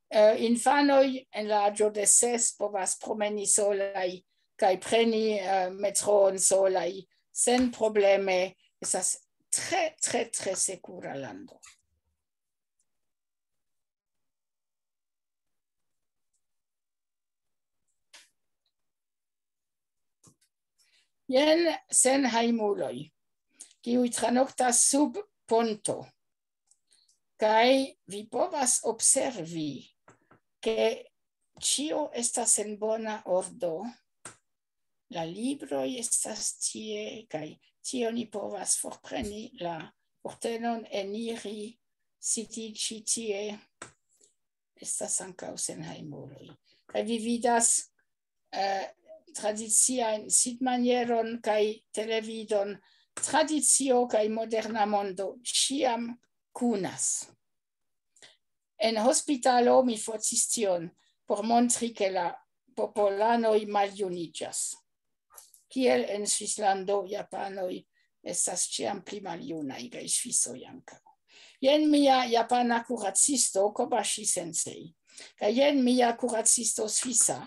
Eh, infanoj en la aĝo de ses povas promeni solaj kaj preni, eh, metroon solaj, sen probleme. Estas tre, tre, tre sekura lando. Jen senhejmuloj, kiuj tranoktas sub ponto. Kaj vi povas observi, ke ĉio estas en bona ordo. La libroj estas tie, kaj tie oni povas forpreni la kurtenon, eniri, sidiĝi tie. Estas ankaŭ senhejmuloj. Kaj vi vidas, eh, tradiciajn sidmanieron kaj televidon. Tradicio kaj moderna mondo ĉiam kunas. En hospitalo mi fotis tion por montri, ke la popolanoj maljuniĝas. Kiel en Svislando, japanoj estas ĉiam pli maljunaj, kaj svisoj ankaŭ. Jen mia japana kuracisto, Kobashi Sensei. Kaj jen mia kuracisto svisa,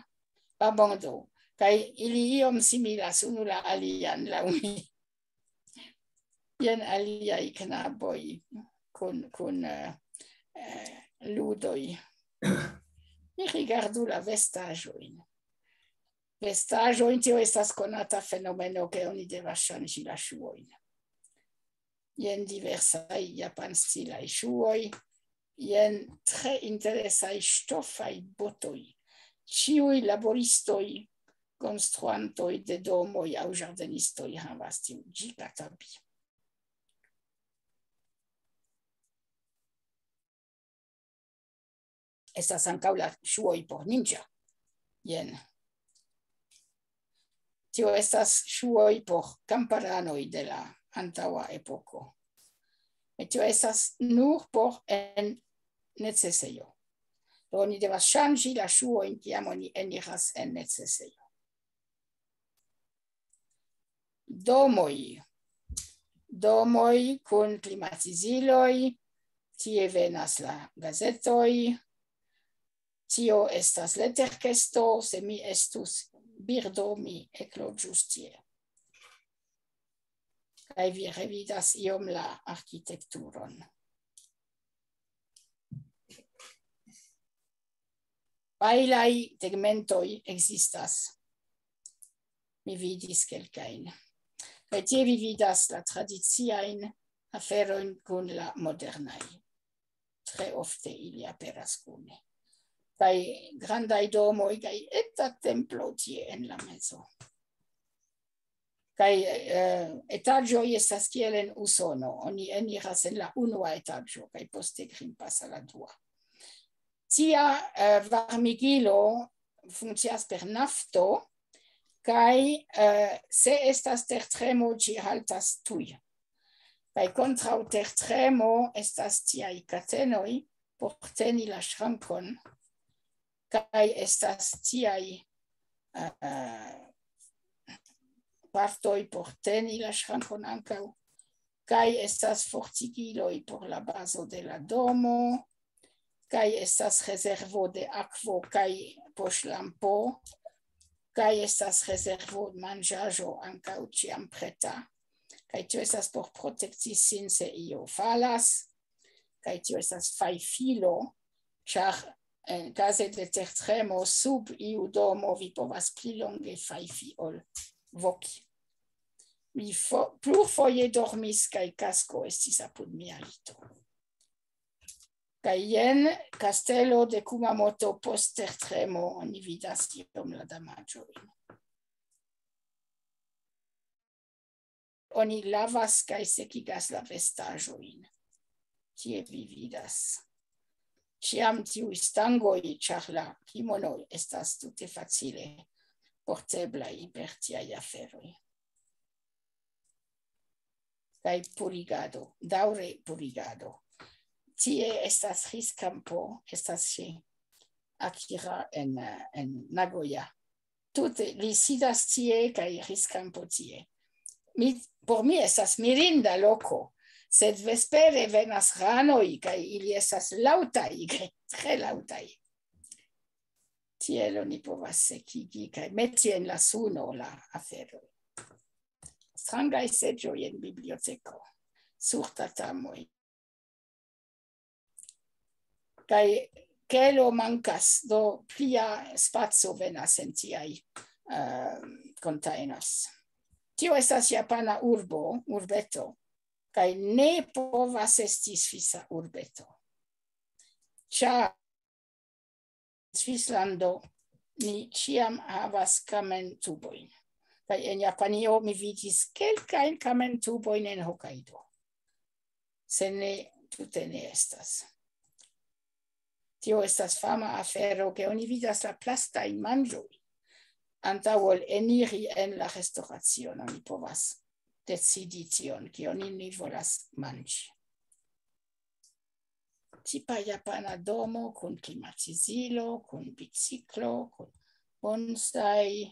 Babondo. Kaj ili iom similas unu la alian, laŭ mi. Jen aliaj knaboj kun, kun, eh, eh, ludoj. Ni rigardu la vestaĵojn. Vestaĵojn, tio estas konata fenomeno, ke oni devas ŝanĝi la ŝuojn. Jen diversaj japanstilaj ŝuoj, jen tre interesaj ŝtofaj botoj. Ĉiuj laboristoj, konstruantoj de domoj aŭ ĝardenistoj havas tiun ĝigatabi. Estas ankaŭ la ŝuoj por ninja. Jen. Tio estas ŝuoj por kamparanoj de la antaŭa epoko. Kaj tio estas nur por en necesejo. Do oni devas ŝanĝi la ŝuojn, kiam oni eniras en necesejo. Domoj. Domoj kun klimatiziloj. Tie venas la gazetoj. Tio estas leterkesto. Se mi estus birdo, mi ekloĝus tie. Kaj vi revidas iom la arkitekturon. Pajlaj tegmentoj ekzistas. Mi vidis kelkajn. Kaj tie vi vidas la tradiciajn aferojn kun la modernaj. Tre ofte ili aperas kune. Kaj grandaj domoj, kaj eta templo tie en la mezo. Kaj, eh, etaĝoj estas kiel en Usono. Oni eniras en la unua etaĝo, kaj poste grimpas al la dua. Tia, eh, varmigilo funkcias per nafto, kaj, eh, se estas tertremo, ĝi haltas tuj. Kaj kontraŭ tertremo estas tiaj katenoj por teni la ŝrankon, kaj estas tiaj, eh, partoj por teni la ŝrankon ankaŭ, kaj estas fortigiloj por la bazo de la domo, kaj estas rezervo de akvo kaj poŝlampo, kaj estas rezervo manĝaĵo ankaŭ ĉiam preta. Kaj tio estas por protekti sin, se io falas, kaj tio estas fajfilo, ĉar en kaze de tertremo sub iu domo vi povas pli longe fajfi ol voki. Mi fo-, plurfoje dormis, kaj kasko estis apud mia lito. Kaj jen kastelo de Kumamoto post tertremo, oni vidas iom la damaĝojn. Oni lavas kaj sekigas la vestaĵojn. Tie vi vidas. Ĉiam tiuj stangoj, ĉar la kimonoj estas tute facile porteblaj per tiaj aferoj. Kaj purigado, daŭre purigado. Tie estas riskampo, estas ĉe Akira en, eh, en Nagoya. Tute, li sidas tie kaj riskampo tie. Mi, por mi estas mirinda loko, sed vespere venas ranoj kaj ili estas laŭtaj, tre laŭtaj. Tiel oni povas sekigi kaj meti en la suno la aferoj. Strangaj seĝoj en biblioteko, sur tatamoj. Kaj kelo mankas, do plia spaco venas en tiaj, eh, containers. Tio estas japana urbo, urbeto, kaj ne povas esti svisa urbeto. Ĉar Svislando ni ĉiam havas kamentubojn. Kaj en Japanio mi vidis kelkajn kamentubojn en Hokkaido. Se ne, tute ne estas. Tio estas fama afero, ke oni vidas la plastajn manĝojn. Antaŭ ol eniri en la restoracion, oni povas decidi tion, kion ni volas manĝi. Tipa japana domo kun klimatizilo, kun biciklo, kun bonsai.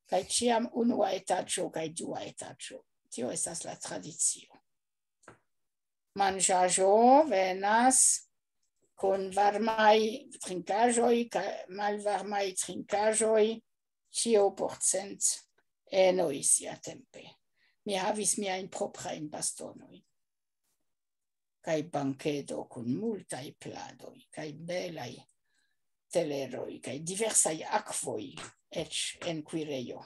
Kaj ĉiam unua etaĝo kaj dua etaĝo. Tio estas la tradicio. Manĝaĵo venas kun varmaj trinkaĵoj, malvarmaj trinkaĵoj, ĉio por cent enoj siatempe. Mi havis miajn proprajn bastonojn. Kaj bankedo kun multaj pladoj, kaj belaj teleroj, kaj diversaj akvoj, eĉ en kuirejo.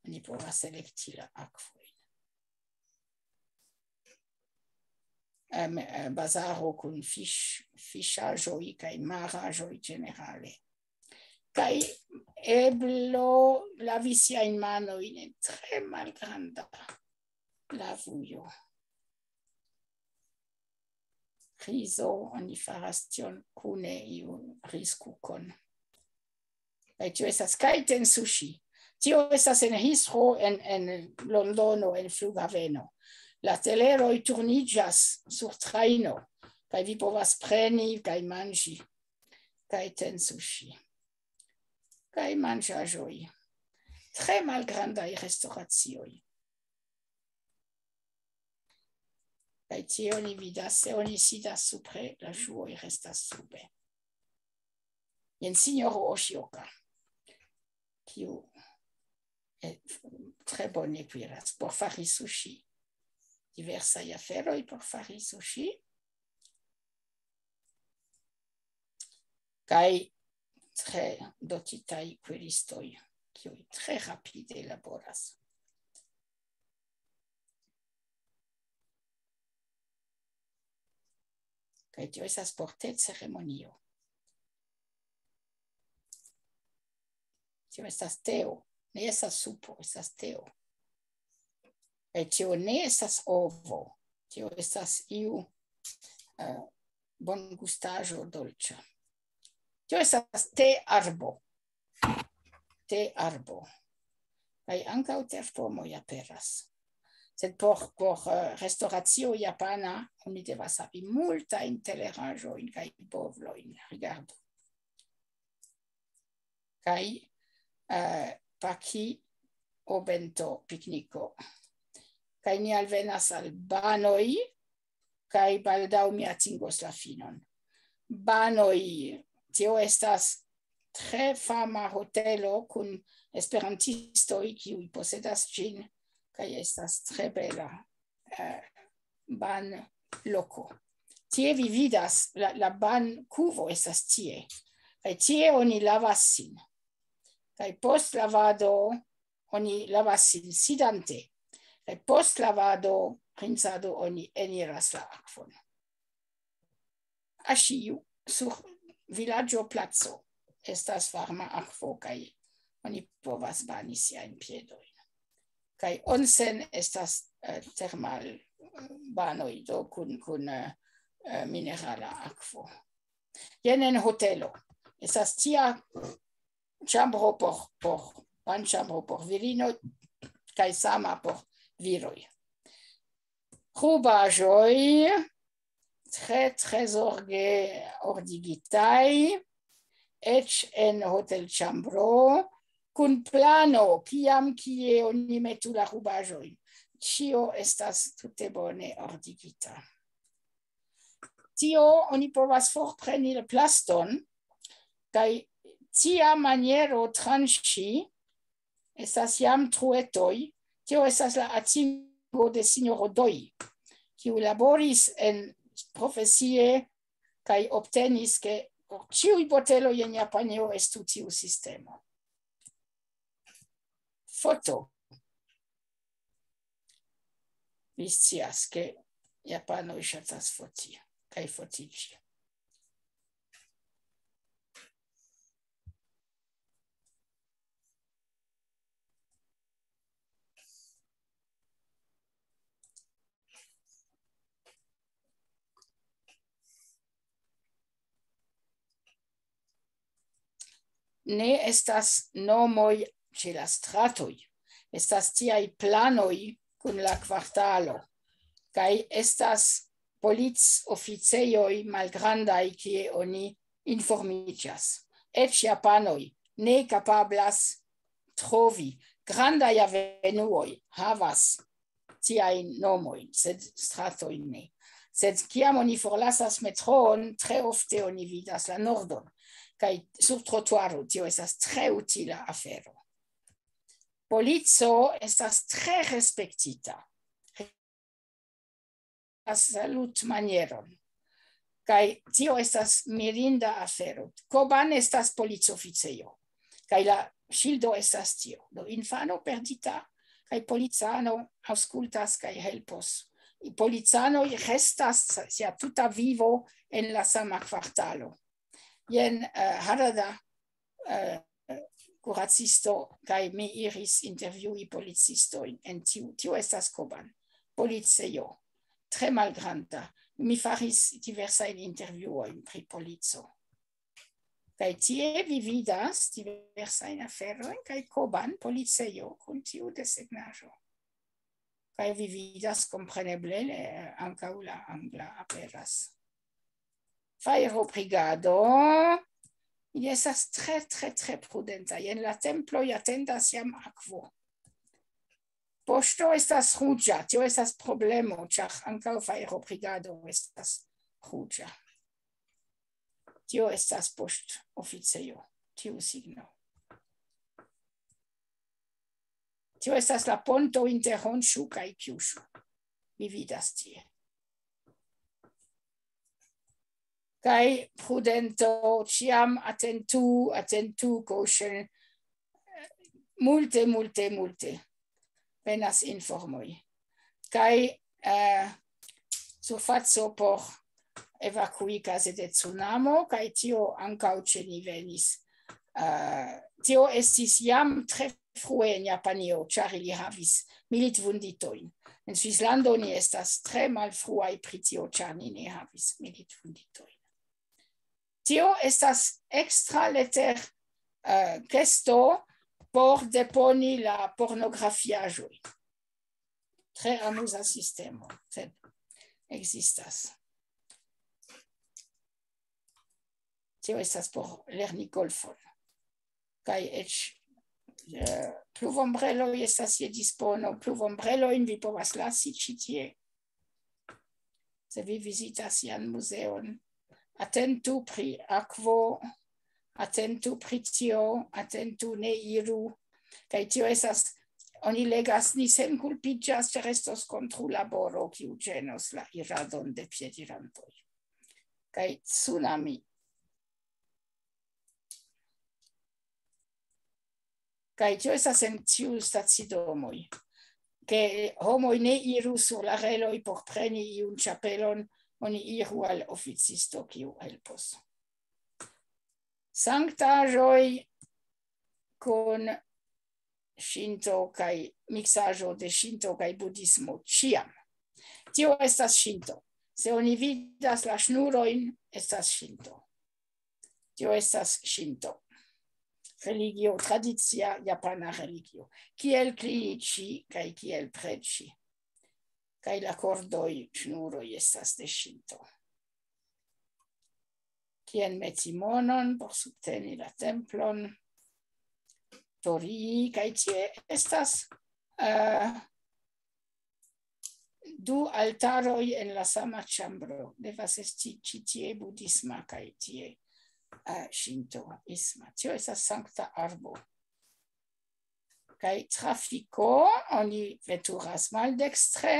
Oni povas elekti la akvojn. Bazaro kun fiŝ-, fiŝaĵoj kaj maraĵoj ĝenerale. Kaj eblo lavi siajn manojn en tre malgranda lavujo. Rizo, oni faras tion kune, iu rizkukon. Kaj tio estas Kaiten Sushi. Tio estas en Heathrow en, en Londono, en flughaveno. La teleroj turniĝas sur trajno, kaj vi povas preni kaj manĝi Kaiten Sushi. Kaj manĝaĵoj. Tre malgrandaj restoracioj. Kaj tie oni vidas, se oni sidas supre, la ŝuoj restas sube. Jen sinjoro Oshioka, kiu, eh, tre bone kuiras por fari sushi. Diversaj aferoj por fari sushi. Kaj tre dotitaj kuiristoj, kiuj tre rapide laboras. Kaj tio estas por te ceremonio. Tio estas teo. Ne estas supo, estas teo. Kaj tio ne estas ovo. Tio estas iu, eh, bongustaĵo dolĉa. Tio estas te arbo. Te arbo. Kaj ankaŭ terpomoj aperas. Sed por, por, eh, restoracio japana oni devas havi multajn teleraĵojn kaj bovlojn. Rigardu. Kaj, eh, paki o bento pikniko. Kaj ni alvenas al banoj, kaj baldaŭ mi atingos la finon. Banoj, tio estas tre fama hotelo kun esperantistoj, kiuj posedas ĝin, kaj estas tre bela, eh, ban loko. Tie vi vidas, la, la ban kuvo estas tie. Kaj tie oni lavas sin. Kaj post lavado oni lavas sin sidante. Kaj post lavado, rinsado, oni eniras la akvon. Aŝiu, sur vilaĝo placo, estas varma akvo, kaj oni povas bani siajn piedojn. Kaj onsen estas, eh, termal, eh, banoj, do kun, kun, eh, eh, minerala akvo. Jen en hotelo. Estas tia ĉambro por, por, banĉambro por virino, kaj sama por viroj. Rubaĵoj tre, tre zorge ordigitaj, eĉ en hotelĉambro, kun plano, kiam kie oni metu la rubaĵojn. Ĉio estas tute bone ordigita. Tio oni povas forpreni la plaston, kaj tia maniero tranĉi estas jam truetoj. Tio estas la atingo de sinjoro Doi, kiu laboris en profesie kaj obtenis, ke por ĉiuj boteloj en Japanio estu tiu sistemo. Foto. Vi scias, ke japanoj ŝatas foti kaj fotiĝi. Ne estas nomoj ĉe la stratoj. Estas tiaj planoj kun la kvartalo. Kaj estas policoficejoj malgrandaj, kie oni informiĝas. Eĉ japanoj ne kapablas trovi. Grandaj avenuoj havas tiajn nomojn, sed stratojn ne. Sed kiam oni forlasas metroon, tre ofte oni vidas la nordon. Kaj sur trotuaro tio estas tre utila afero. Polico estas tre respektita. Salutmanieron. Kaj tio estas mirinda afero. Koban estas policoficejo. Kaj la ŝildo estas tio. Do infano perdita, kaj policano aŭskultas kaj helpos. Policanoj restas sia tuta vivo en la sama kvartalo. Jen, eh, Harada, eh, kuracisto, kaj mi iris intervjui policistojn en tiu, tio estas Koban, policejo, tre malgranda. Mi faris diversajn intervjuojn pri polico. Kaj tie vi vidas diversajn aferojn, kaj Koban policejo kun tiu desegnaĵo. Kaj vi vidas kompreneble, eh, ankaŭ la angla aperas. Fajrobrigado, ili estas tre, tre, tre prudenta. Jen la temploj atendas jam akvo. Poŝto estas ruĝa, tio estas problemo, ĉar ankaŭ fajrobrigado estas ruĝa. Tio estas poŝtoficejo, tiu signo. Tio estas la ponto inter Honŝu kaj Kjuŝu. Mi vidas tie. Kaj prudento, ĉiam atentu, atentu, koŝen. Multe, multe, multe venas informoj. Kaj, eh, surfaco por evakui kaze de tsunamo, kaj tio ankaŭ ĉe ni venis. Eh, tio estis jam tre frue en Japanio, ĉar ili havis militvunditojn. En Svislando ni estas tre malfruaj pri tio, ĉar ni ne havis militvunditojn. Tio estas ekstra leter, eh, kesto por deponi la pornografiaĵoj. Tre amuza sistemo, sed ekzistas. Tio estas por lerni golfon. Kaj eĉ, eh, pluvombreloj estas je dispono. Pluvombrelojn vi povas lasi ĉi tie. Se vi vizitas ian muzeon, atentu pri akvo, atentu pri tio, atentu, ne iru. Kaj tio estas, oni legas, ni senkulpiĝas, ĉar estos kontrulaboro, kiu ĝenos la iradon de piedirantoj. Kaj tsunami. Kaj tio estas en tiu stacidomoj, ke homoj ne iru sur la reloj por preni iun ĉapelon, oni iru al oficisto, kiu helpos. Sanktaĵoj kun ŝinto kaj miksaĵo de ŝinto kaj budhismo ĉiam. Tio estas ŝinto. Se oni vidas la ŝnurojn, estas ŝinto. Tio estas ŝinto. Religio, tradicia japana religio. Kiel klinici kaj kiel preĝi. Kaj la kordoj, ŝnuroj estas de ŝinto. Kien meti monon por subteni la templon. Torii, kaj tie estas, eh, du altaroj en la sama ĉambro. Devas esti ĉi tie budhisma kaj tie, eh, ŝintoisma. Tio estas sankta arbo. Kaj trafiko, oni veturas maldekstre.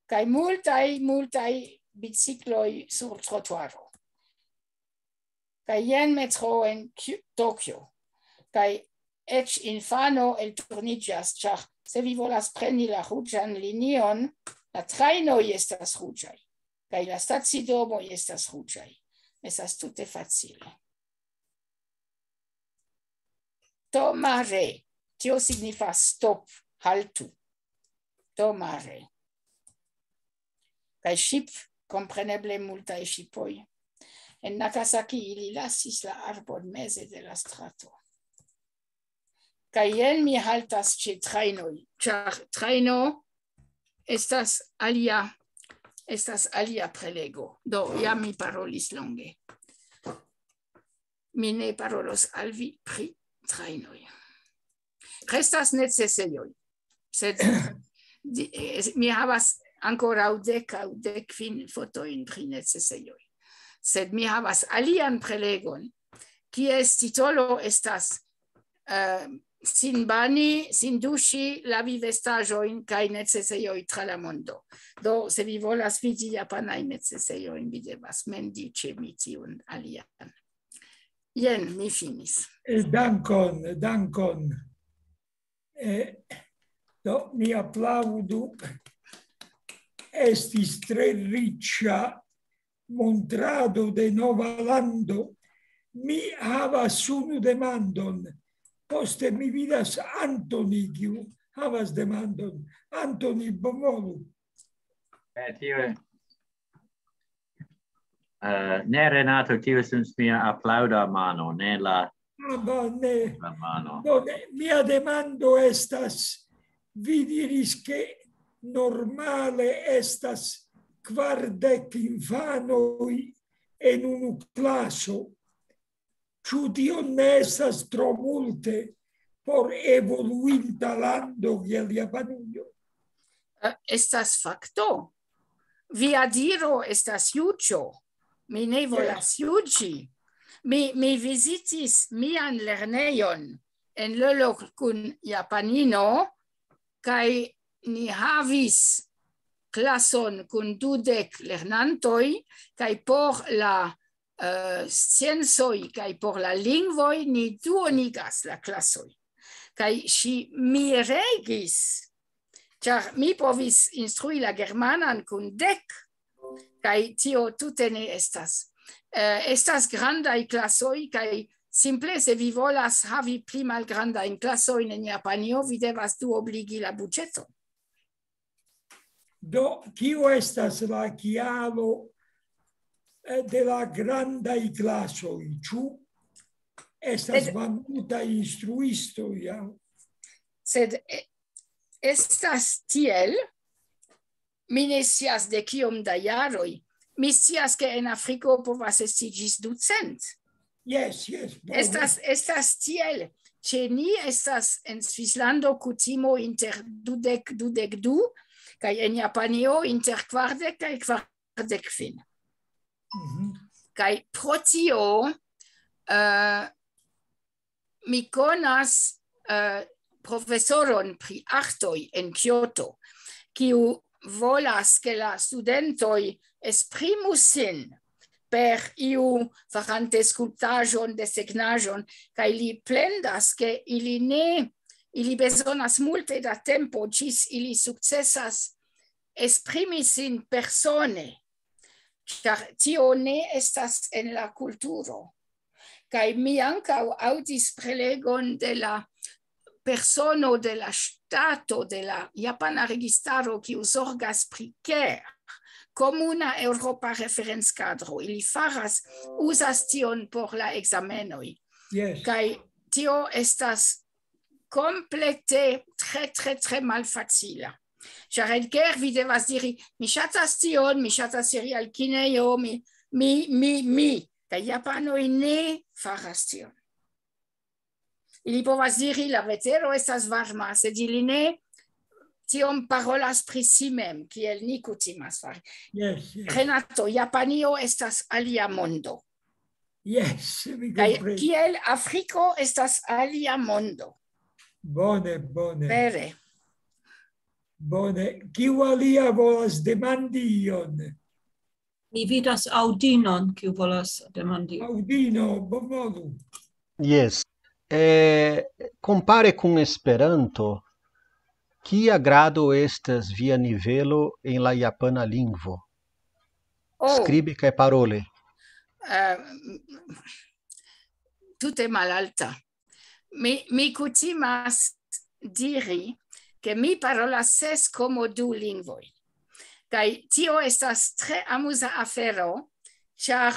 Kaj multaj, multaj bicikloj sur trotuaro. Kaj jen metro en Kyo-, Tokio. Kaj eĉ infano elturniĝas, ĉar se vi volas preni la ruĝan linion, la trajnoj estas ruĝaj, kaj la stacidomoj estas ruĝaj. Estas tute facile. Tomare. Tio signifas stop, haltu. Tomare. Kaj ŝip, kompreneble multaj ŝipoj. En Nagasaki ili lasis la arbon meze de la strato. Kaj jen mi haltas ĉe trajnoj, ĉar trajno estas alia, estas alia prelego. Do, jam mi parolis longe. Mi ne parolos al vi pri trajnoj. Restas necesejoj. Sed di- eh, mi havas ankoraŭ dek aŭ dek kvin fotojn pri necesejoj. Sed mi havas alian prelegon, kies titolo estas eh, sin bani, sin duŝi, lavi vestaĵojn kaj necesejoj tra la mondo. Do, se vi volas vidi japanajn necesejojn, vi devas mendi ĉe mi tiun alian. Jen, mi finis. Eh, dankon, dankon. Eh, do, mi aplaŭdu. Estis tre riĉa montrado de nova lando. Mi havas unu demandon. Poste mi vidas Antoni, kiu havas demandon. Antoni, bonvolu. Eh, tio, eh, ne, Renato, tio estas mia aplaŭda mano, ne la Ah, bone. la mano. Do, ne, mia demando estas, vi diris, ke normale estas kvardek infanoj en unu klaso. Ĉu tio ne estas tro multe por evoluinta lando kiel Japanujo? Eh, estas fakto. Via diro estas juĝo. Mi ne volas juĝi. Mi, mi vizitis mian lernejon en Lolok kun japanino, kaj ni havis klason kun dudek lernantoj, kaj por la eh, sciencoj kaj por la lingvoj ni duonigas la klasoj. Kaj ŝi miregis, ĉar mi povis instrui la germanan kun dek, kaj tio tute ne estas. Eh, estas grandaj klasoj, kaj simple, se vi volas havi pli malgrandajn klasojn en Japanio, vi devas duobligi la budĝeton. Do, kio estas la kialo, eh, de la grandaj klasoj? Ĉu estas Sed- malmultaj instruistoj, ja? Sed, eh, estas tiel, mi ne scias de kiom da jaroj. Mi scias, ke en Afriko povas esti ĝis ducent. Jes, jes, bone. Estas, estas tiel. Ĉe ni estas en Svislando kutimo inter dudek, dudek du, kaj en Japanio inter kvardek kaj kvardek kvin. Mhm. Kaj pro tio, eh, mi konas, eh, profesoron pri artoj en Kyoto, kiu volas, ke la studentoj esprimu sin per iu farante skulptaĵon, desegnaĵon, kaj li plendas, ke ili ne, ili bezonas multe da tempo ĝis ili sukcesas esprimi sin persone, ĉar tio ne estas en la kulturo. Kaj mi ankaŭ aŭdis prelegon de la persono de la ŝtato, de la japana registaro, kiu zorgas pri ker, komuna eŭropa referencadro. Ili faras, uzas tion por la ekzamenoj. Jes. Kaj tio estas komplete tre, tre, tre malfacila. Ĉar en ker vi devas diri, mi ŝatas tion, mi ŝatas iri al kinejo, mi, mi, mi, mi. Kaj japanoj ne faras tion. Ili povas diri, la vetero estas varma, sed ili ne tiom parolas pri si mem, kiel ni kutimas fari. Jes, jes. Renato, Japanio estas alia mondo. Jes, mi Kaj komprenas. Kiel Afriko estas alia mondo. Bone, bone. Vere. Bone. Kiu alia volas demandi ion? Mi vidas Aŭdinon, kiu volas demandi. Aŭdino, bonvolu. Jes. Eh, compare con Esperanto, kia grado estas via nivelo en la japana lingvo? Oh. Skribi kaj paroli. Eh, tute malalta. Mi, mi kutimas diri, ke mi parolas ses komo du lingvoj. Kaj tio estas tre amuza afero, ĉar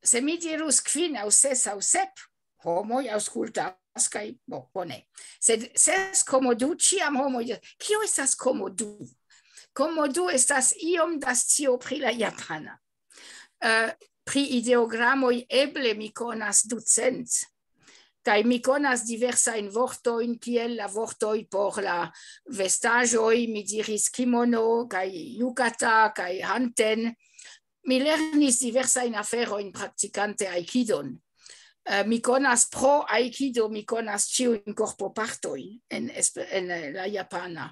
se mi dirus kvin aŭ ses aŭ sep, homoj aŭskultas kaj, bo, bone. Sed ses komo du, ĉiam homoj diras, kio estas komo du? Komo du estas iom da scio pri la japana. Eh, pri ideogramoj eble mi konas ducent. Kaj mi konas diversajn vortojn, kiel la vortoj por la vestaĵoj, mi diris kimono, kaj yukata, kaj hanten. Mi lernis diversajn aferojn praktikante aikidon. Eh, mi konas pro aikido, mi konas ĉiujn korpopartojn en, esp- en eh, la japana.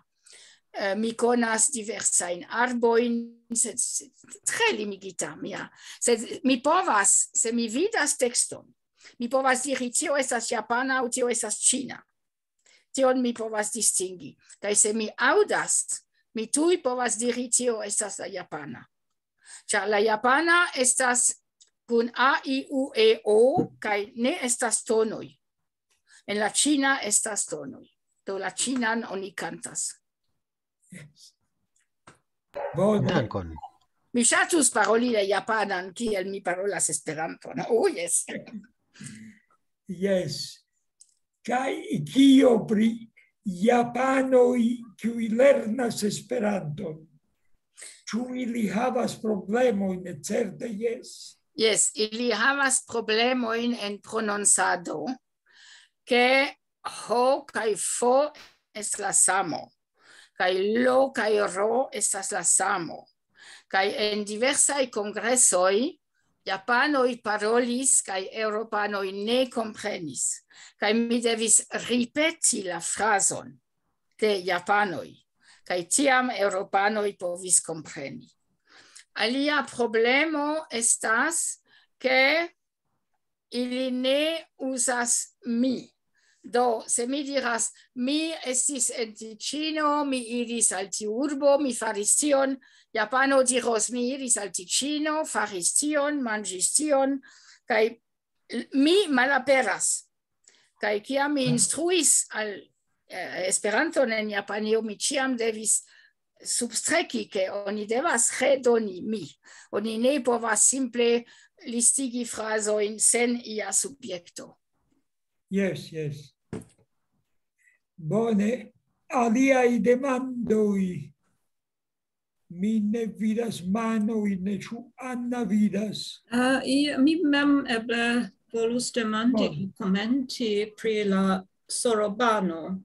Eh, mi konas diversajn arbojn, sed, sed tre limigita mia. Sed mi povas, se mi vidas tekston, mi povas diri, tio estas japana aŭ tio estas ĉina. Tion mi povas distingi. Kaj se mi aŭdas, mi tuj povas diri, tio estas la japana. Ĉar la japana estas kun a, i, u, e, o, kaj ne estas tonoj. En la ĉina estas tonoj. Do la ĉinan oni kantas. Bone. Dankon. Mi ŝatus paroli la japanan, kiel mi parolas Esperanton. Oh, yes. Yes. Kaj kio pri japanoj, kiuj lernas Esperanton? Ĉu ili havas problemojn? Certe, yes. Yes, ili havas problemojn en prononcado, ke ho kaj fo estas la samo, kaj lo kaj ro estas la samo. Kaj en diversaj kongresoj japanoj parolis kaj eŭropanoj ne komprenis. Kaj mi devis ripeti la frazon de japanoj. Kaj tiam eŭropanoj povis kompreni. Alia problemo estas, ke ili ne uzas mi. Do, se mi diras, mi estis en Ticino, mi iris al tiu urbo, mi faris tion, japano diros, mi iris al Ticino, faris tion, manĝis tion, kaj mi malaperas. Kaj kiam mi instruis al eh, Esperanton en Japanio, mi ĉiam devis substreki, ke oni devas redoni mi. Oni ne povas simple listigi frazojn sen ia subjekto. Yes, yes. Bone, aliaj demandoj. Mi ne vidas manojn, ne, ĉu Anna vidas? Uh, i, mi mem eble volus demandi, oh, komenti pri la sorobano,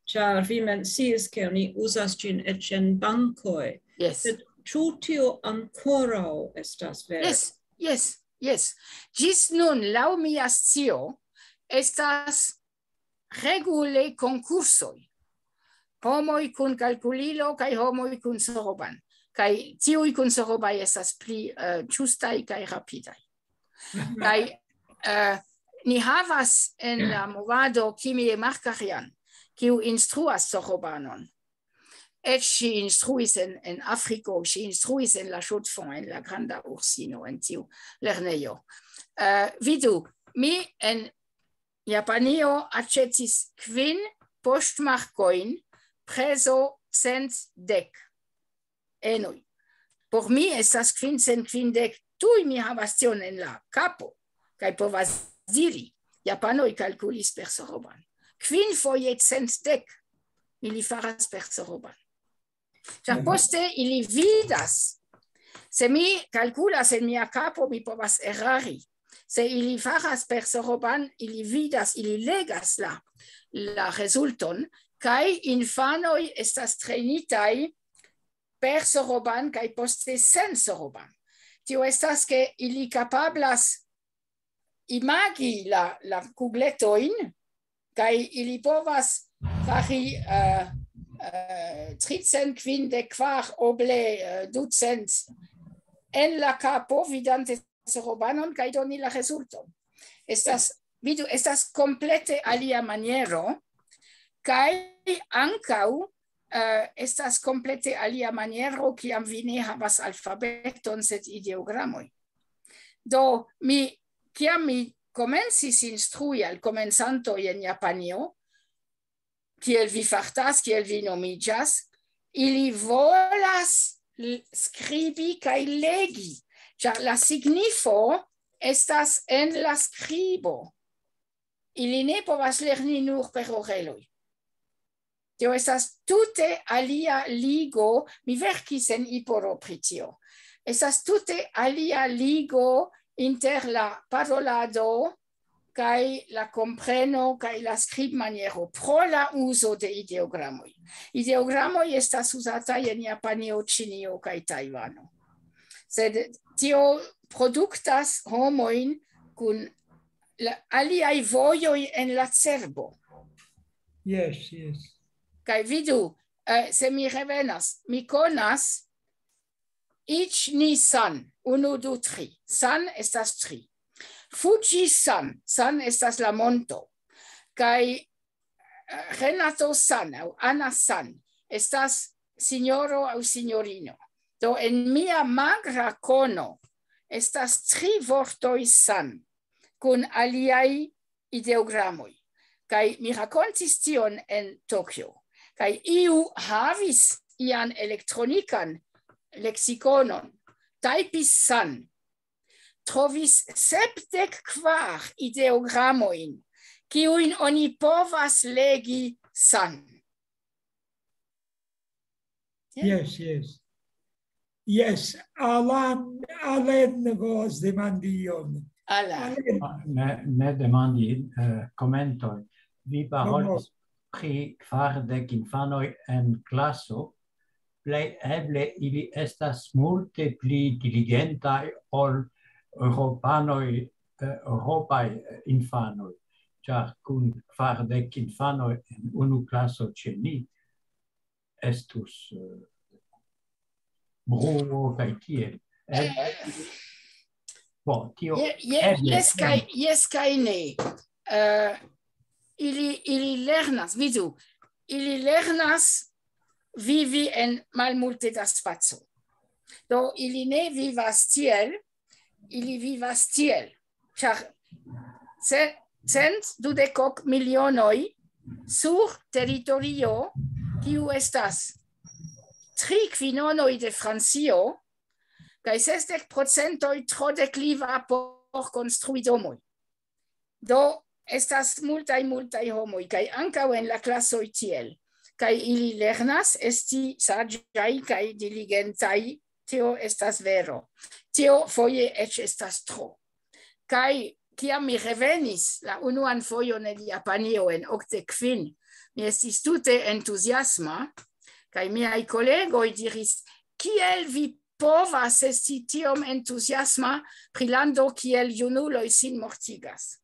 ĉar vi menciis, ke oni uzas ĝin eĉ en bankoj. Yes. Sed ĉu tio ankoraŭ estas vera? Yes, yes, yes. Ĝis nun, laŭ mia scio, estas regule konkursoj. Homoj kun kalkulilo kaj homoj kun soroban. Kaj tiuj kun sorobaj estas pli uh, ĝustaj kaj rapidaj. Kaj uh, ni havas en la movado Kimie Markarian, kiu instruas sorobanon. Eĉ ŝi instruis en, en Afriko, ŝi instruis en la Chaux-de-Fonds, en la Granda Ursino, en tiu lernejo. Uh, vidu, mi en Japanio aĉetis kvin poŝtmarkojn, prezo cent dek enoj. Por mi estas kvin cent kvindek, tuj mi havas tion en la kapo, kaj povas diri, japanoj kalkulis per soroban. Kvin foje cent dek ili faras per soroban. Ĉar poste ili vidas, se mi kalkulas en mia kapo, mi povas erari. Se ili faras per soroban, ili vidas, ili legas la, la rezulton, kaj infanoj estas trenitaj per soroban kaj poste sen soroban. Tio estas, ke ili kapablas imagi la, la kugletojn, kaj ili povas fari uh, uh, tricent kvindek kvar oble uh, ducent en la kapo, vidante sorobanon, kaj doni la rezulton. Estas, vidu, estas komplete alia maniero, kaj ankaŭ uh, estas komplete alia maniero, kiam vi ne havas alfabeton, sed ideogramoj. Do, mi, kiam mi komencis instrui al komencantoj en Japanio, kiel vi fartas, kiel vi nomiĝas, ili volas skribi kaj legi, ĉar la signifo estas en la skribo. Ili ne povas lerni nur per oreloj. Tio estas tute alia ligo, mi verkis en Iporo pri tio. Estas tute alia ligo inter la parolado kaj la kompreno kaj la skribmaniero pro la uzo de ideogramoj. Ideogramoj estas uzataj en Japanio, Ĉinio kaj Tajvano. Sed tio produktas homojn kun la aliaj vojoj en la cerbo. Yes, yes. Kaj vidu, eh, se mi revenas, mi konas Ichi ni san, unu, du, tri. San estas tri. Fuji san, san estas la monto. Kaj eh, Renato san aŭ Ana san estas sinjoro aŭ sinjorino. Do en mia magra kono estas tri vortoj san kun aliaj ideogramoj. Kaj mi rakontis tion en Tokio. Kaj iu havis ian elektronikan leksikonon, tajpis san, trovis sepdek kvar ideogramojn, kiujn oni povas legi san. Yes, yes. Yes, Alan, Alan volas demandi ion. Alan. Alan, Ah, ne, ne demandi, eh, komentoj. Vi parolis pri kvardek infanoj en klaso. Plej eble ili estas multe pli diligentaj ol eŭropanoj, eh, eŭropaj, eh, infanoj. Ĉar kun kvardek infanoj en unu klaso ĉe ni estus, eh, bruo kaj tiel. Eble, bon, tio Je- je- eble. Jes kaj, jes kaj ne. Eh, ili, ili lernas, vidu, ili lernas vivi en malmulte da spaco. Do ili ne vivas tiel, ili vivas tiel. Ĉar ce- cent dudek ok milionoj sur teritorio, kiu estas tri kvinonoj de Francio, kaj sesdek procentoj tro dekliva por konstrui domoj. Do estas multaj, multaj homoj, kaj ankaŭ en la klasoj tiel. Kaj ili lernas esti saĝaj kaj diligentaj, tio estas vero. Tio foje eĉ estas tro. Kaj kiam mi revenis la unuan fojon en Japanio en okdek kvin, mi estis tute entuziasma, kaj miaj kolegoj diris: "Kiel vi povas esti tiom entuziasma pri lando kiel junuloj sin mortigas?"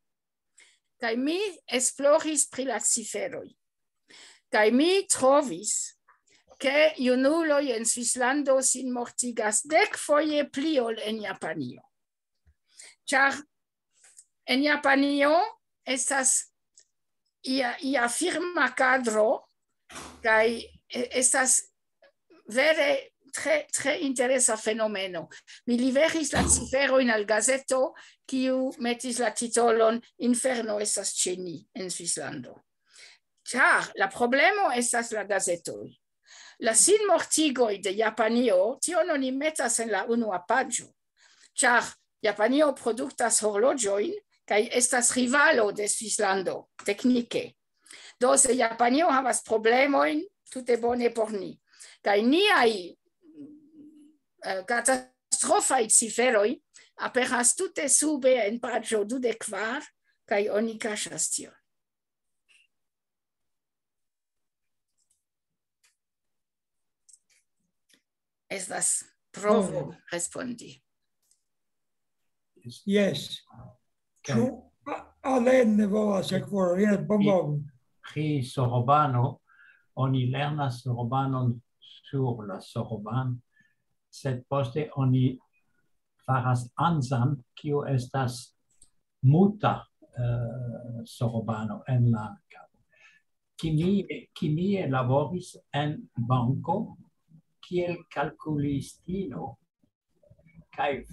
Kaj mi esploris pri la ciferoj. Kaj mi trovis, ke junuloj en Svislando sin mortigas dek foje pli ol en Japanio. Ĉar en Japanio estas ia, ia firma kadro, kaj e- estas vere tre, tre interesa fenomeno. Mi liveris la ciferojn al gazeto, kiu metis la titolon "Inferno estas ĉe ni en Svislando". Ĉar la problemo estas la gazetoj. La sinmortigoj de Japanio, tion oni metas en la unua paĝo. Ĉar Japanio produktas horloĝojn kaj estas rivalo de Svislando, teknike. Do se Japanio havas problemojn, tute bone por ni. Kaj niaj, eh, katastrofaj ciferoj aperas tute sube en paĝo dudek kvar, kaj oni kaŝas tion. Estas provo Bone. Respondi. Yes. Kaj Ĉu A- Alan ne volas sekvori? Yes, bonvolu. Pri sorobano, oni lernas sorobanon sur la soroban, sed poste oni faras anzan, kiu estas muta, eh, sorobano en la kavo. Kimie, kimie laboris en banko kiel kalkulistino, kaj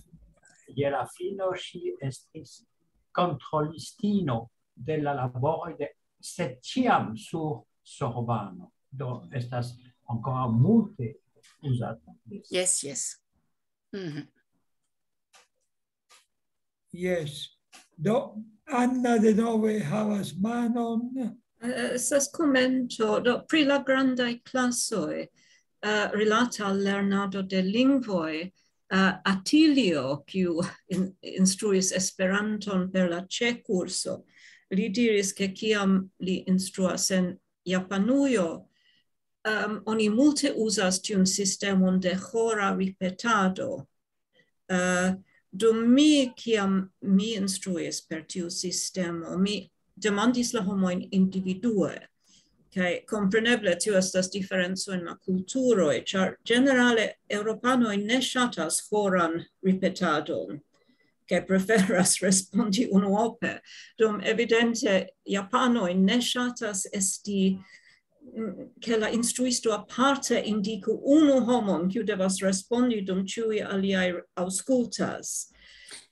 je la fino ŝi estis kontrolistino de la laboroj de, sed ĉiam sur sorbano. Do estas ankoraŭ multe uzata. Yes, yes. Mhm. Yes. Do, Anna denove havas manon. Eh, Estas komento do pri la grandaj klasoj, eh, rilate al lernado de lingvoj. uh, Atilio, kiu in, instruis Esperanton per la C kurso, li diris, ke kiam li instruas en Japanujo, um, oni multe uzas tiun sistemon de ĥora ripetado. Uh, dum mi, kiam mi instruis per tiu sistemo, mi demandis la homojn individue. Kaj kompreneble tio estas diferenco en la kulturoj, ĉar ĝenerale eŭropanoj ne ŝatas ĥoran ripetadon, kaj preferas respondi unuope. Dum evidente japanoj ne ŝatas esti, mm, ke la instruisto aparte indiku unu homon, kiu devas respondi, dum ĉiuj aliaj aŭskultas.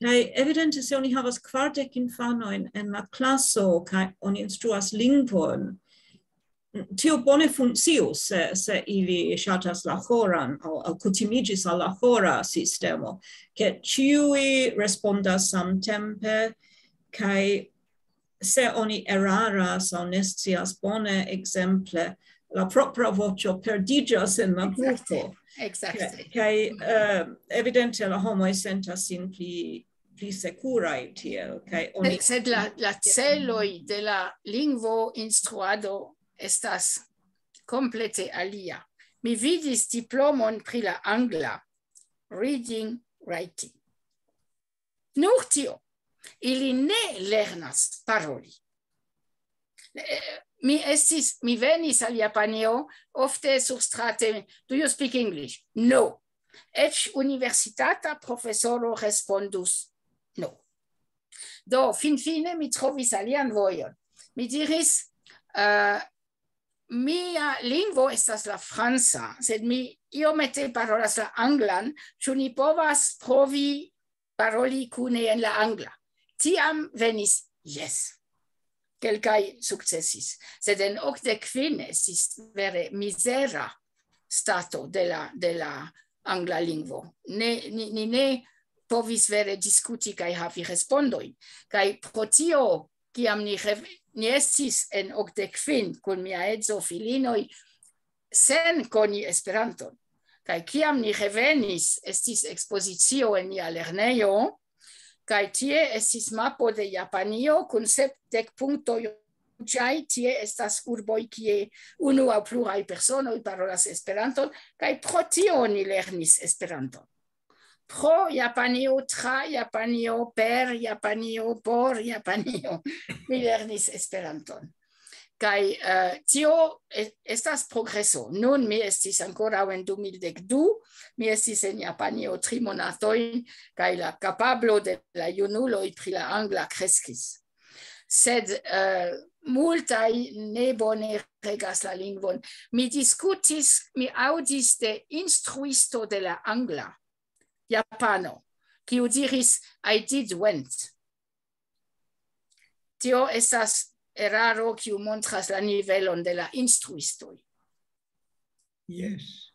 Kaj evidente, se oni havas kvardek infanojn en la klaso, kaj oni instruas lingvon, tio bone funkcius, se, se ili ŝatas la ĥoran aŭ, aŭ kutimiĝis al la ĥora sistemo, ke ĉiuj respondas samtempe, kaj se oni eraras aŭ ne scias bone, ekzemple, la propra voĉo perdiĝas en la grupo. Ekzakte, ekzakte. Kaj, eh, evidente la homoj sentas sin pli, pli sekuraj tiel, kaj oni Sed la, la celoj de la lingvo instruado estas komplete alia. Mi vidis diplomon pri la angla, reading, writing. Nur tio, ili ne lernas paroli. Eh, mi estis, mi venis al Japanio, ofte surstrate, "Do you speak English?" "No." Eĉ universitata profesoro respondus, "No." Do, finfine mi trovis alian vojon. Mi diris, eh, "Mia lingvo estas la franca, sed mi iomete parolas la anglan, ĉu ni povas provi paroli kune en la angla?" Tiam venis, "Jes." Kelkaj sukcesis, sed en okdek kvin estis vere mizera stato de la, de la angla lingvo. Ne, ni, ni ne povis vere diskuti kaj havi respondojn. Kaj pro tio, kiam ni rev-, ni estis en okdek kvin kun mia edzo, filinoj, sen koni Esperanton. Kaj kiam ni revenis, estis ekspozicio en nia lernejo, kaj tie estis mapo de Japanio kun sepdek punktoj ruĝaj. Tie estas urboj, kie unu aŭ pluraj personoj parolas Esperanton, kaj pro tio ni lernis Esperanton. Pro Japanio, tra Japanio, per Japanio, por Japanio, mi lernis Esperanton. Kaj, eh, tio e-, estas progreso. Nun mi estis ankoraŭ en du mil dek du, mi estis en Japanio tri monatojn, kaj la kapablo de la junuloj pri la angla kreskis. Sed, eh, multaj ne bone regas la lingvon. Mi diskutis, mi aŭdis de instruisto de la angla, japano, kiu diris, "I did went." Tio estas eraro, kiu montras la nivelon de la instruistoj. Jes.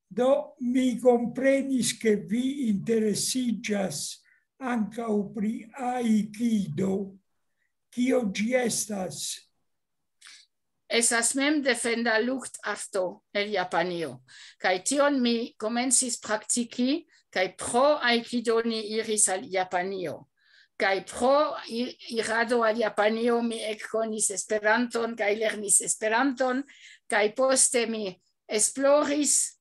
Do, mi komprenis, ke vi interesiĝas ankaŭ pri aikido. Kio ĝi estas? Estas mem defenda luktarto el Japanio. Kaj tion mi komencis praktiki, kaj pro aikido ni iris al Japanio. Kaj pro i-, irado al Japanio mi ekkonis Esperanton, kaj lernis Esperanton, kaj poste mi esploris,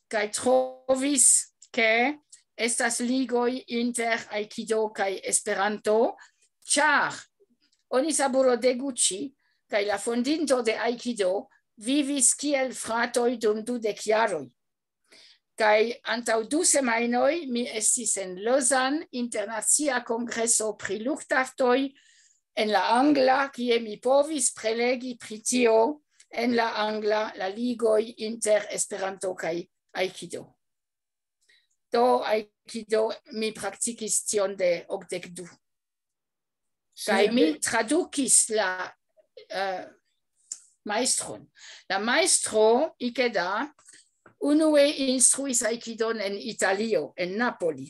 kaj trovis, ke estas ligoj inter aikido kaj Esperanto, ĉar Onisaburo Deguchi, kaj la fondinto de aikido, vivis kiel fratoj dum dudek jaroj. Kaj antaŭ du semajnoj mi estis en Lausanne, internacia kongreso pri luktartoj, en la angla, kie mi povis prelegi pri tio en la angla, la ligoj inter Esperanto kaj aikido. Do aikido mi praktikis tion de okdek du. Kaj mi tradukis la, eh, majstron. La majstro Ikeda unue instruis aikidon en Italio, en Napoli.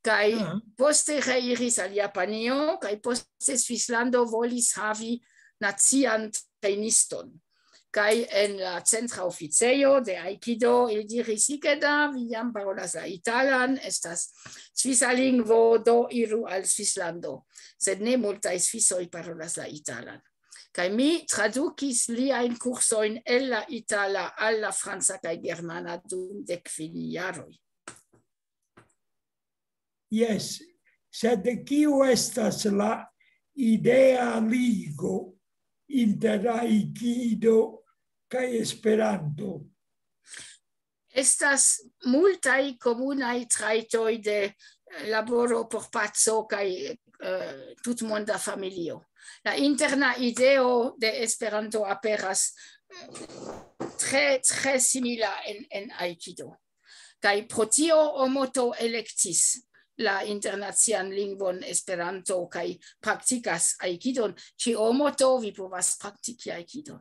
Kaj poste reiris al Japanio, kaj poste Svislando volis havi nacian trejniston. Kaj en la centra oficejo de Aikido ili diris: "Ikeda, vi jam parolas la italan, estas svisa lingvo, do iru al Svislando." Sed ne multaj svisoj parolas la italan. Kaj mi tradukis liajn kursojn el la itala al la franca kaj germana dum dek kvin jaroj. Jes, sed kiu estas la idea ligo inter Aikido kaj Esperanto? Estas multaj komunaj trajtoj de, eh, laboro por paco kaj, eh, tutmonda familio. La interna ideo de Esperanto aperas, eh, tre, tre simila en, en Aikido. Kaj pro tio Omoto elektis la internacian lingvon Esperanto kaj praktikas Aikidon. Ĉe Omoto vi povas praktiki Aikidon.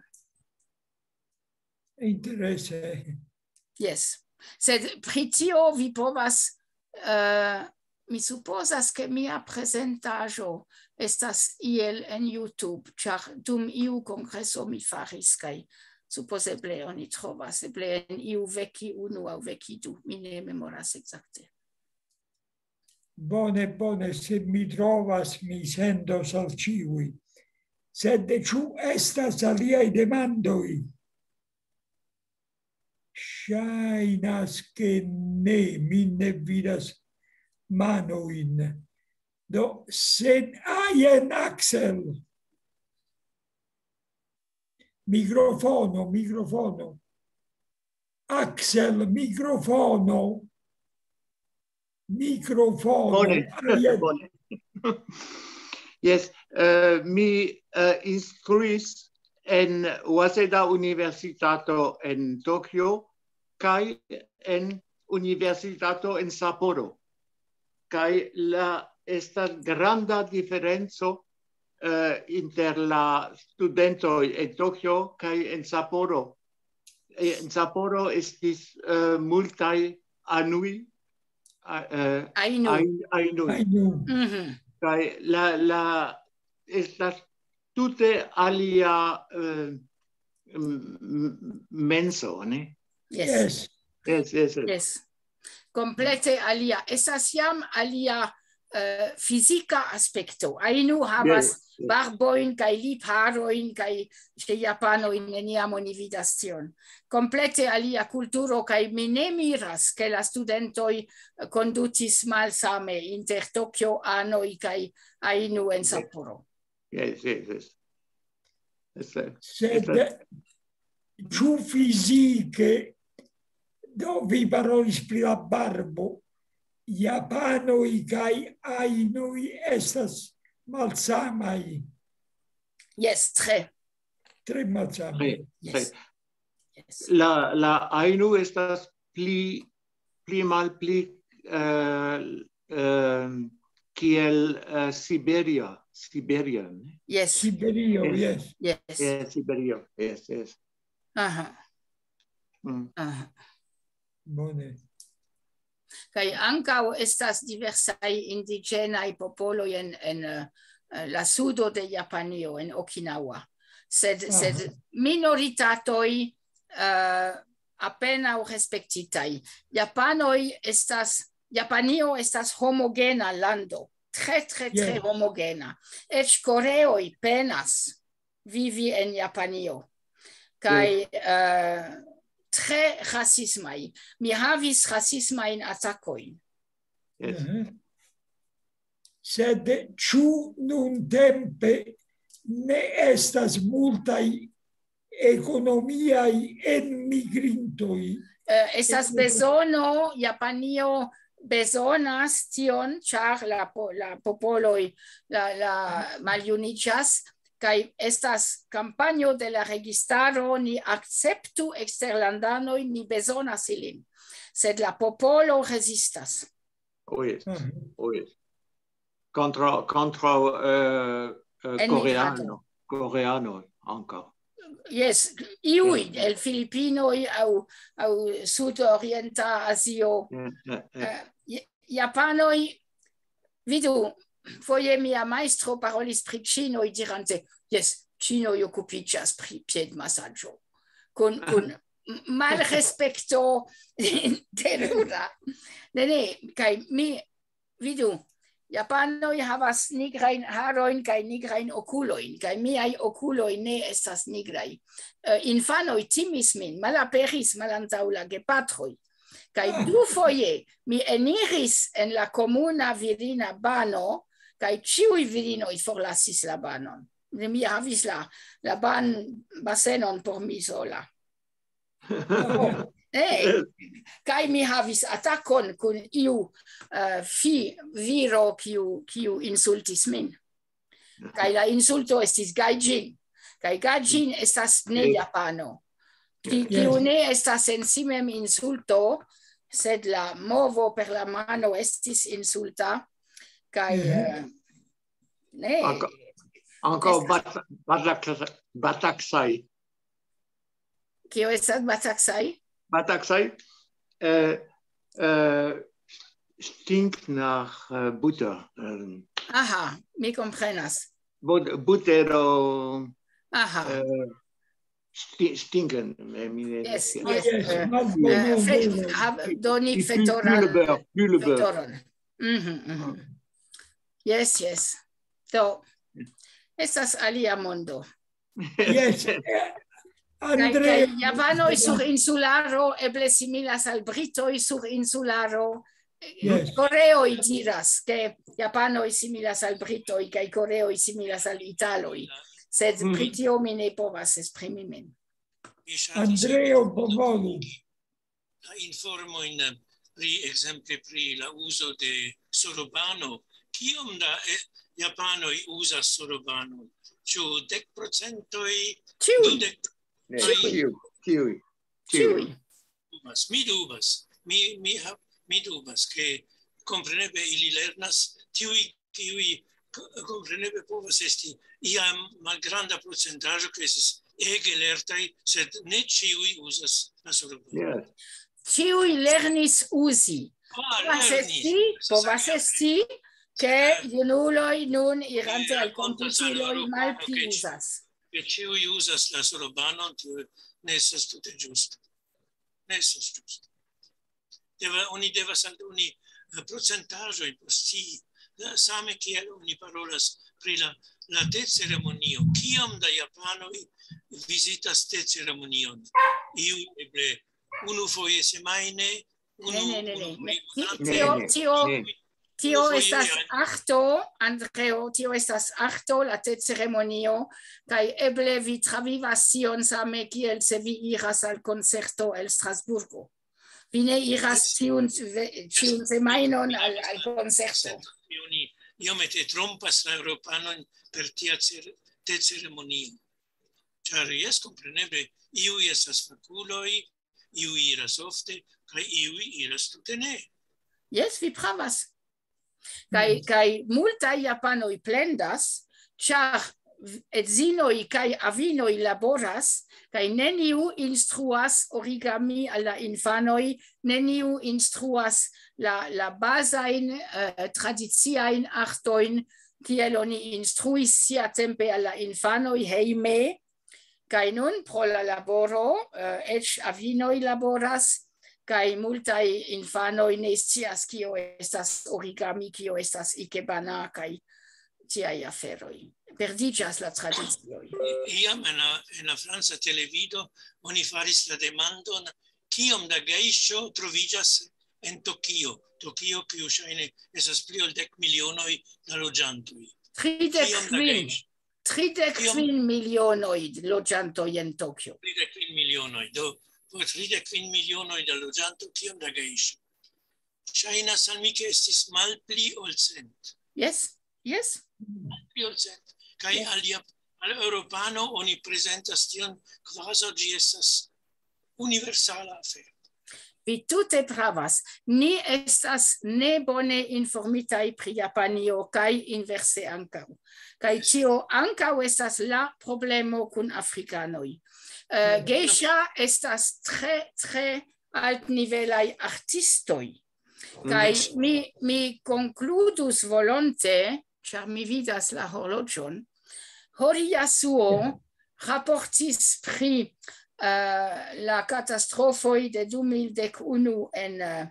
Interese. Jes. Sed pri tio vi povas, eh, mi supozas, ke mia prezentaĵo estas iel en YouTube, ĉar dum iu kongreso mi faris, kaj supozeble oni trovas, eble en iu veki unu aŭ veki du, mi ne memoras ekzakte. Bone, bone, se mi trovas, mi sendos al ĉiuj. Sed ĉu estas aliaj demandoj? Ŝajnas, ke ne, mi ne vidas manojn. Do, sen ajen, Axel. Mikrofono, mikrofono. Axel, mikrofono. Mikrofono. Bone, Ajen. Bone. Jes, eh, mi, eh, instruis en Waseda Universitato en Tokio kaj en Universitato en Sapporo. Kaj la estas granda diferenco, eh, inter la studentoj en Tokio kaj en Sapporo. Eh, en Sapporo estis, eh, multaj anui, a-, eh, Ainu. Ai-, ainui. Ainu. Mhm. Kaj la, la estas tute alia, eh, m-, m-, menso, ne? Yes. Yes. Yes, yes, yes. Yes. Komplete alia. Estas jam alia, eh, fizika aspekto. Ainu havas Yes, yes. barbojn kaj lipharojn kaj ĉe japanoj neniam oni vidas tion. Komplete alia kulturo kaj mi ne miras, ke la studentoj, eh, kondutis malsame inter Tokio anoj kaj Ainu en Sapporo. Yes, yes, yes. Yes, sir. Sed Yes, sir. Ĉu fizike, do vi parolis pri la barbo, japanoj kaj ainoj estas malsamaj, Yes, tre. tre malsamaj. Tre, tre. Yes. Yes. La, la Ainu estas pli, pli malpli, eh, eh, kiel, eh, Siberia, Siberia, ne? Yes. Siberio, Yes. Yes. Yes. Eh, Siberio, yes, yes. Aha. Mm. Aha. Bone. Kaj ankaŭ estas diversaj indiĝenaj popoloj en, en, eh, la sudo de Japanio, en Okinawa. Sed, Aha. Sed minoritatoj, eh, apenaŭ respektitaj. Japanoj estas, Japanio estas homogena lando. Tre, tre, tre Yes. homogena. Eĉ koreoj penas vivi en Japanio. Kaj, eh, tre rasismaj. Mi havis rasismajn atakojn. Yes. Mhm. Sed ĉu nuntempe ne estas multaj ekonomiaj enmigrintoj? Eh, estas bezono, Japanio bezonas tion, ĉar la po-, la popoloj, la, la maljuniĝas, kaj estas kampanjo de la registaro, "Ni akceptu eksterlandanojn, ni bezonas ilin." Sed la popolo rezistas. Oh, yes. Mhm. Oh, yes. Kontraŭ, kontraŭ, eh, eh, Enmigrado. Koreano, Koreano ankaŭ. Yes, iuj el Filipinoj aŭ, aŭ Sudorienta Azio. Eh, eh, eh. Eh, Ja-, Japanoj, vidu, foje mia majstro parolis pri Ĉinoj, dirante: "Jes, Ĉinoj okupiĝas pri piedmasaĝo." kun, kun malrespekto terura. Ne, ne, kaj mi, vidu, japanoj havas nigrajn harojn kaj nigrajn okulojn, kaj miaj okuloj ne estas nigraj. Eh, infanoj timis min, malaperis malantaŭ la gepatroj. Kaj dufoje mi eniris en la komuna virina bano, kaj ĉiuj virinoj forlasis la banon. Mi havis la, la ban-, basenon por mi sola. Eh, kaj mi havis atakon kun iu, eh, fi-, viro, kiu, kiu insultis min. Kaj la insulto estis gaijin. Kaj gaijin estas ne japano. Ki-, kiu ne estas en si mem insulto, sed la movo per la mano estis insulta. Kaj, eh, ne. Ankaŭ, ankaŭ estas bat-, batak-, bataksaj. Kio estas bataksaj? Bataksaj, eh, eh, stinkt nach, eh, Butter. Eh, Aha, mi komprenas. But-, butero, Aha. eh, sti-, stinken, eh, mi ne Yes, scias. Yes, eh, eh, fe-, ha-, doni Pli-, pli-, fetoran, pli le beurre, pli le beurre. Fetoron. Mhm, mhm. Yes, yes. Do, estas alia mondo. Yes, eh, Kaj, Andrea. Kaj japanoj sur insularo eble similas al britoj sur insularo. Yes. Koreoj diras, ke japanoj similas al britoj, kaj koreoj similas al italoj. Sed Mm. pri tio mi ne povas esprimi min. Mi ŝatas Andreo, bonvolu. La informojn pri, ekzemple, pri la uzo de sorobano. Kiom da, eh, japanoj uzas sorobanon? Ĉu dek procentoj? Ĉiuj. Dudek? Ne, Ĉiuj. Kiuj? Kiuj? Kiuj? Dubas. Mi dubas. Mi, mi ha-, mi dubas, ke kompreneble ili lernas, tiuj, kiuj k-, kompreneble povas esti iam malgranda procentaĵo, ke estas ege lertaj, sed ne ĉiuj uzas la sorobano. Yes. Ĉiuj lernis uzi. Ah, Povas lernis. esti, Estas povas alia esti, ke junuloj nun irante Ili al rakontas al komputiloj Eŭropo, malpli ke ĉi-, uzas. ke ĉiuj uzas la sorobanon, tio ne estas tute ĝusto. Ne estas ĝusto. Deva-, oni devas aldoni, eh, procentaĵojn por scii. Eh, same kiel oni parolas pri la, la te-ceremonio. Kiom da japanoj vizitas te-ceremonion? Iuj eble unu foje semajne, unu, Ne, ne, ne, ne. unu Ne, foje ti-, monate. tio, Ne, ne, tio, ne. tio Unu foje estas al- akto, Andreo, tio estas akto, la te-ceremonio, kaj eble vi travivas tion same kiel se vi iras al koncerto el Strasburgo. Vi ne iras Yes. tiun ve-, ĉiun semajnon al, al koncerto. Oni iomete trompas la eŭropanon per tia cer-, te-ceremonio. Ĉar jes, kompreneble, iuj estas fakuloj, iuj iras ofte, kaj iuj iras tute ne. Jes, vi pravas. Kaj, Mm. kaj multaj japanoj plendas, ĉar edzinoj kaj avinoj laboras, kaj neniu instruas origami al la infanoj, neniu instruas la, la bazajn, eh, tradiciajn artojn, kiel oni instruis siatempe al la infanoj hejme. Kaj nun pro la laboro, eh, eĉ avinoj laboras, kaj multaj infanoj ne scias, kio estas origami, kio estas ikebana, kaj tiaj aferoj. Perdiĝas la tradicioj. Iam en la, en la franca televido oni faris la demandon, kiom da gejŝo troviĝas en Tokio. Tokio, kiu ŝajne estas pli ol dek milionoj da loĝantoj. Kiom da Tridek kvin, gejŝo? Tridek kvin Kiom? milionoj loĝantoj en Tokio. Tridek kvin milionoj. Do, por tridek kvin milionoj da loĝantoj, kiom da gejŝo? Ŝajnas al mi, ke estis malpli ol cent. Jes, jes. Malpli ol cent. Kaj Jes. al Jap-, al Eŭropano oni prezentas tion, kvazaŭ ĝi estas universala afero. Vi tute pravas. Ni estas ne bone informitaj pri Japanio kaj inverse ankaŭ. Kaj tio ankaŭ estas la problemo kun afrikanoj. Eh, Mm. Geisha estas tre, tre altnivelaj artistoj. Kaj Mm. mi, mi konkludus volonte, ĉar mi vidas la horloĝon. Horiyasuo raportis pri, eh, la katastrofoj de du mil dek unu en, eh,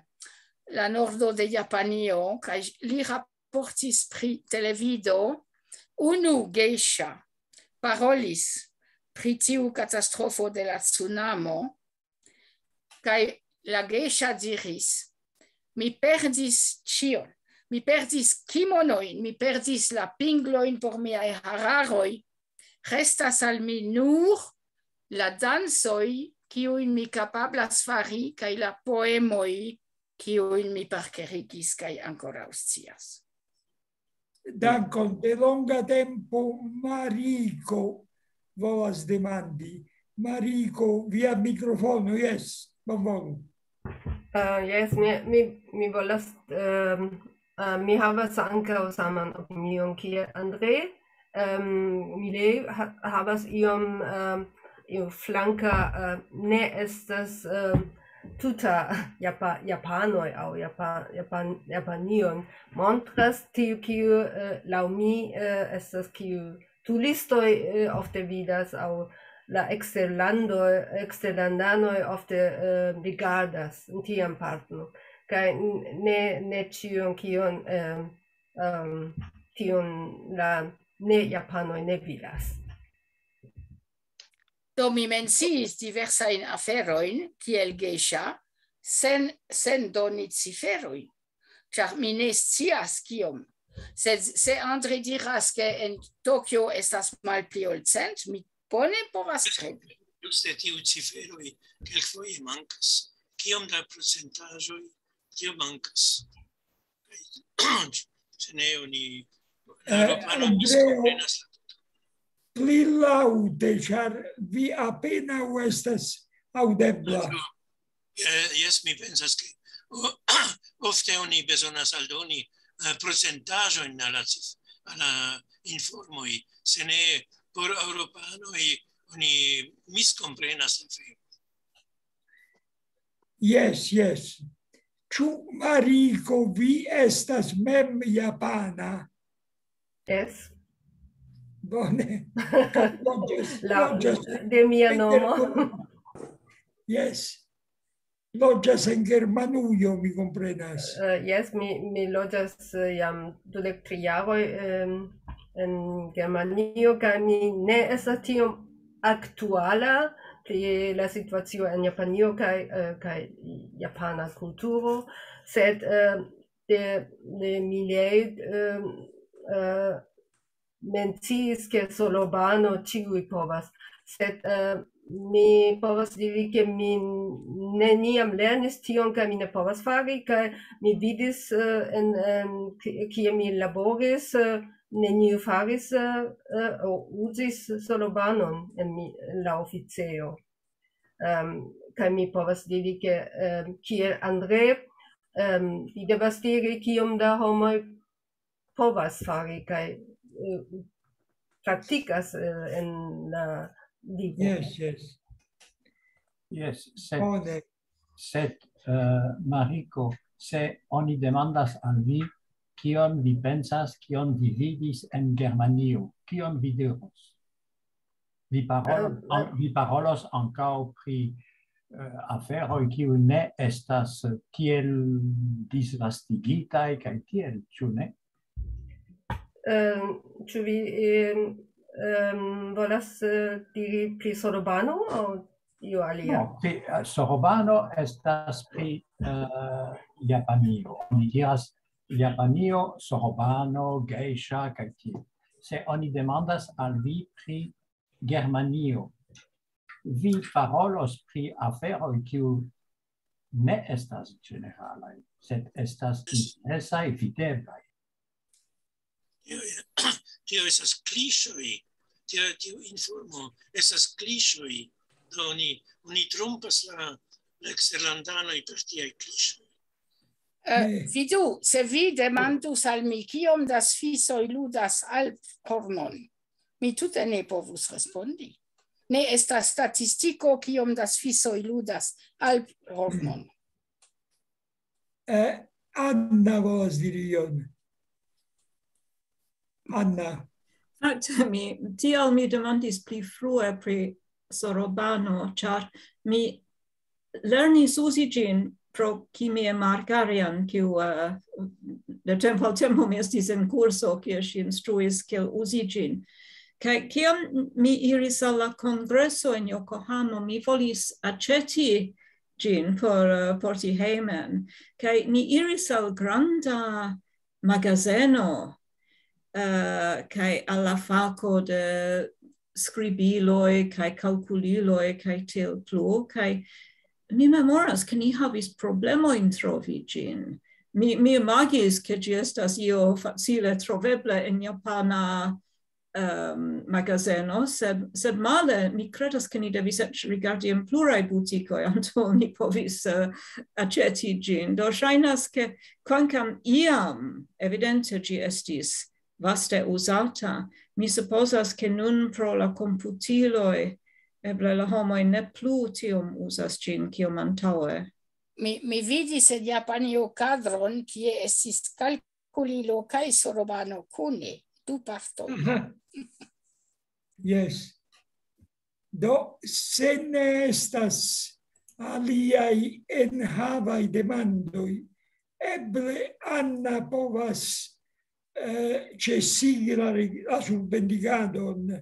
la nordo de Japanio, kaj li raportis pri televido, unu geisha parolis pri tiu katastrofo de la tsunamo, kaj la geisha diris: "Mi perdis ĉion. Mi perdis kimonojn, mi perdis la pinglojn por miaj hararoj. Restas al mi nur la dancoj, kiujn mi kapablas fari, kaj la poemoj, kiujn mi parkerigis kaj ankoraŭ scias." Dankon. De longa tempo Mariko volas demandi. Mariko, via mikrofono, jes, bonvolu. Uh, jes, mi, mi, mi volas, um, uh, mi havas ankaŭ saman opinion kiel Andre. Um, mi le ha, havas iom, um, iom flanka, uh, ne estas, um, tuta Japa, Japanoj aŭ Japa, Japan, Japanion montras tiu, kiu, uh, laŭ mi, uh, estas kiu turistoj, uh, ofte vidas aŭ la eksterlando, eksterlandanoj ofte, uh, rigardas tian parton. Kaj n, ne, ne ĉion, kion, um, um, tion la ne Japanoj ne vidas. Do mi menciis diversajn aferojn, kiel geisha, sen, sen doni ciferojn, ĉar mi ne scias kiom. Sed se Andre diras, ke en Tokio estas malpli ol cent, mi bone povas kredi. Juste tiu ciferoj kelkfoje mankas. Kiom da procentaĵoj tio mankas? Kaj se ne, oni, la Eh, Eŭropano Andreo, miskomprenas la tuton. Pli laŭte, ĉar vi apenaŭ estas aŭdebla. Eh, jes, mi pensas, ke o, ofte oni bezonas aldoni, eh, procentaĵojn al la cif-, al la informoj, se ne por eŭropanoj oni miskomprenas la aferon. Jes, jes. Ĉu Mariko, vi estas mem japana? Jes. Bone. Loĝas, La, loĝas de mia en nomo. Germanujo. Jes. Loĝas en Germanujo, mi komprenas. Eh, jes, mi, mi loĝas, eh, jam dudek tri jaroj, em, en Germanio, kaj mi ne estas tiom aktuala pri la situacio en Japanio kaj, eh, kaj japana kulturo, sed, eh, de, de Milei, eh, eh, menciis, ke Sorbano ĉiuj povas, sed, eh, mi povas diri, ke mi neniam lernis tion, kaj mi ne povas fari, kaj mi vidis, eh, en, en ki-, kie mi laboris, eh, neniu faris, eh, eh, o uzis Sorbanon en mi, en la oficejo. Em, kaj mi povas diri, ke, em, kiel Andre, em, vi devas diri, kiom da homoj povas fari kaj, eh, praktikas, eh, en la vivo. Jes, jes. Jes, sed, Bone. sed eh, Mariko, se oni demandas al vi, kion vi pensas, kion vi vidis en Germanio, kion vi diros? Vi parolos, Eh, an, vi parolos ankaŭ pri eh, aferoj, kiuj ne estas tiel disvastigitaj kaj tiel, ĉu ne? Em, ĉu vi, em, em, volas, eh, diri pri Sorbano aŭ io alia? No, pri, eh, Sorbano estas pri eh, Japanio. Oni diras Japanio, Sorbano, geisha kaj tiel. Se oni demandas al vi pri Germanio, vi parolos pri aferoj, kiu ne estas ĝeneralaj, sed estas interesaj, videblaj. Tio, tio estas kliŝoj, tio, tiu informo estas kliŝoj, do oni, oni trompas la, la eksterlandanoj per tiaj kliŝoj. Eh, vidu, se vi demandus al mi, kiom da svisoj ludas alphornon, mi tute ne povus respondi. Ne estas statistiko, kiom da svisoj ludas alphornon. Eh, Anna volas diri ion. Anna. Fakte, mi, tial mi demandis pli frue pri Sorobano, ĉar mi lernis uzi ĝin pro kimie markarian, kiu uh, de tempo al tempo mi estis en kurso, kie ŝi instruis kiel uzi ĝin. Kaj kiam mi iris al la kongreso en Yokohamo, mi volis aĉeti ĝin por uh, porti hejmen. Kaj ni iris al granda magazeno uh, kaj al la fako de skribiloj kaj kalkuliloj kaj tiel plu. Kaj mi memoras, ke ni havis problemojn trovi ĝin. Mi, mi imagis, ke ĝi estas io facile trovebla en japana um, magazeno, sed, sed male mi kredas, ke ni devis eĉ rigardi en pluraj butikoj antaŭ ni povis uh, aĉeti ĝin. Do ŝajnas, ke kvankam iam evidente ĝi estis vaste uzata, mi supozas, ke nun pro la komputiloj eble la homoj ne plu tiom uzas ĝin kiom antaŭe. Mi, mi vidis en Japanio kadron, kie estis kalkulilo kaj sorobano kune, du partoj. Yes. Do, se ne estas aliaj enhavaj demandoj, eble Anna povas eh, ĉesigi la, la surbendigadon.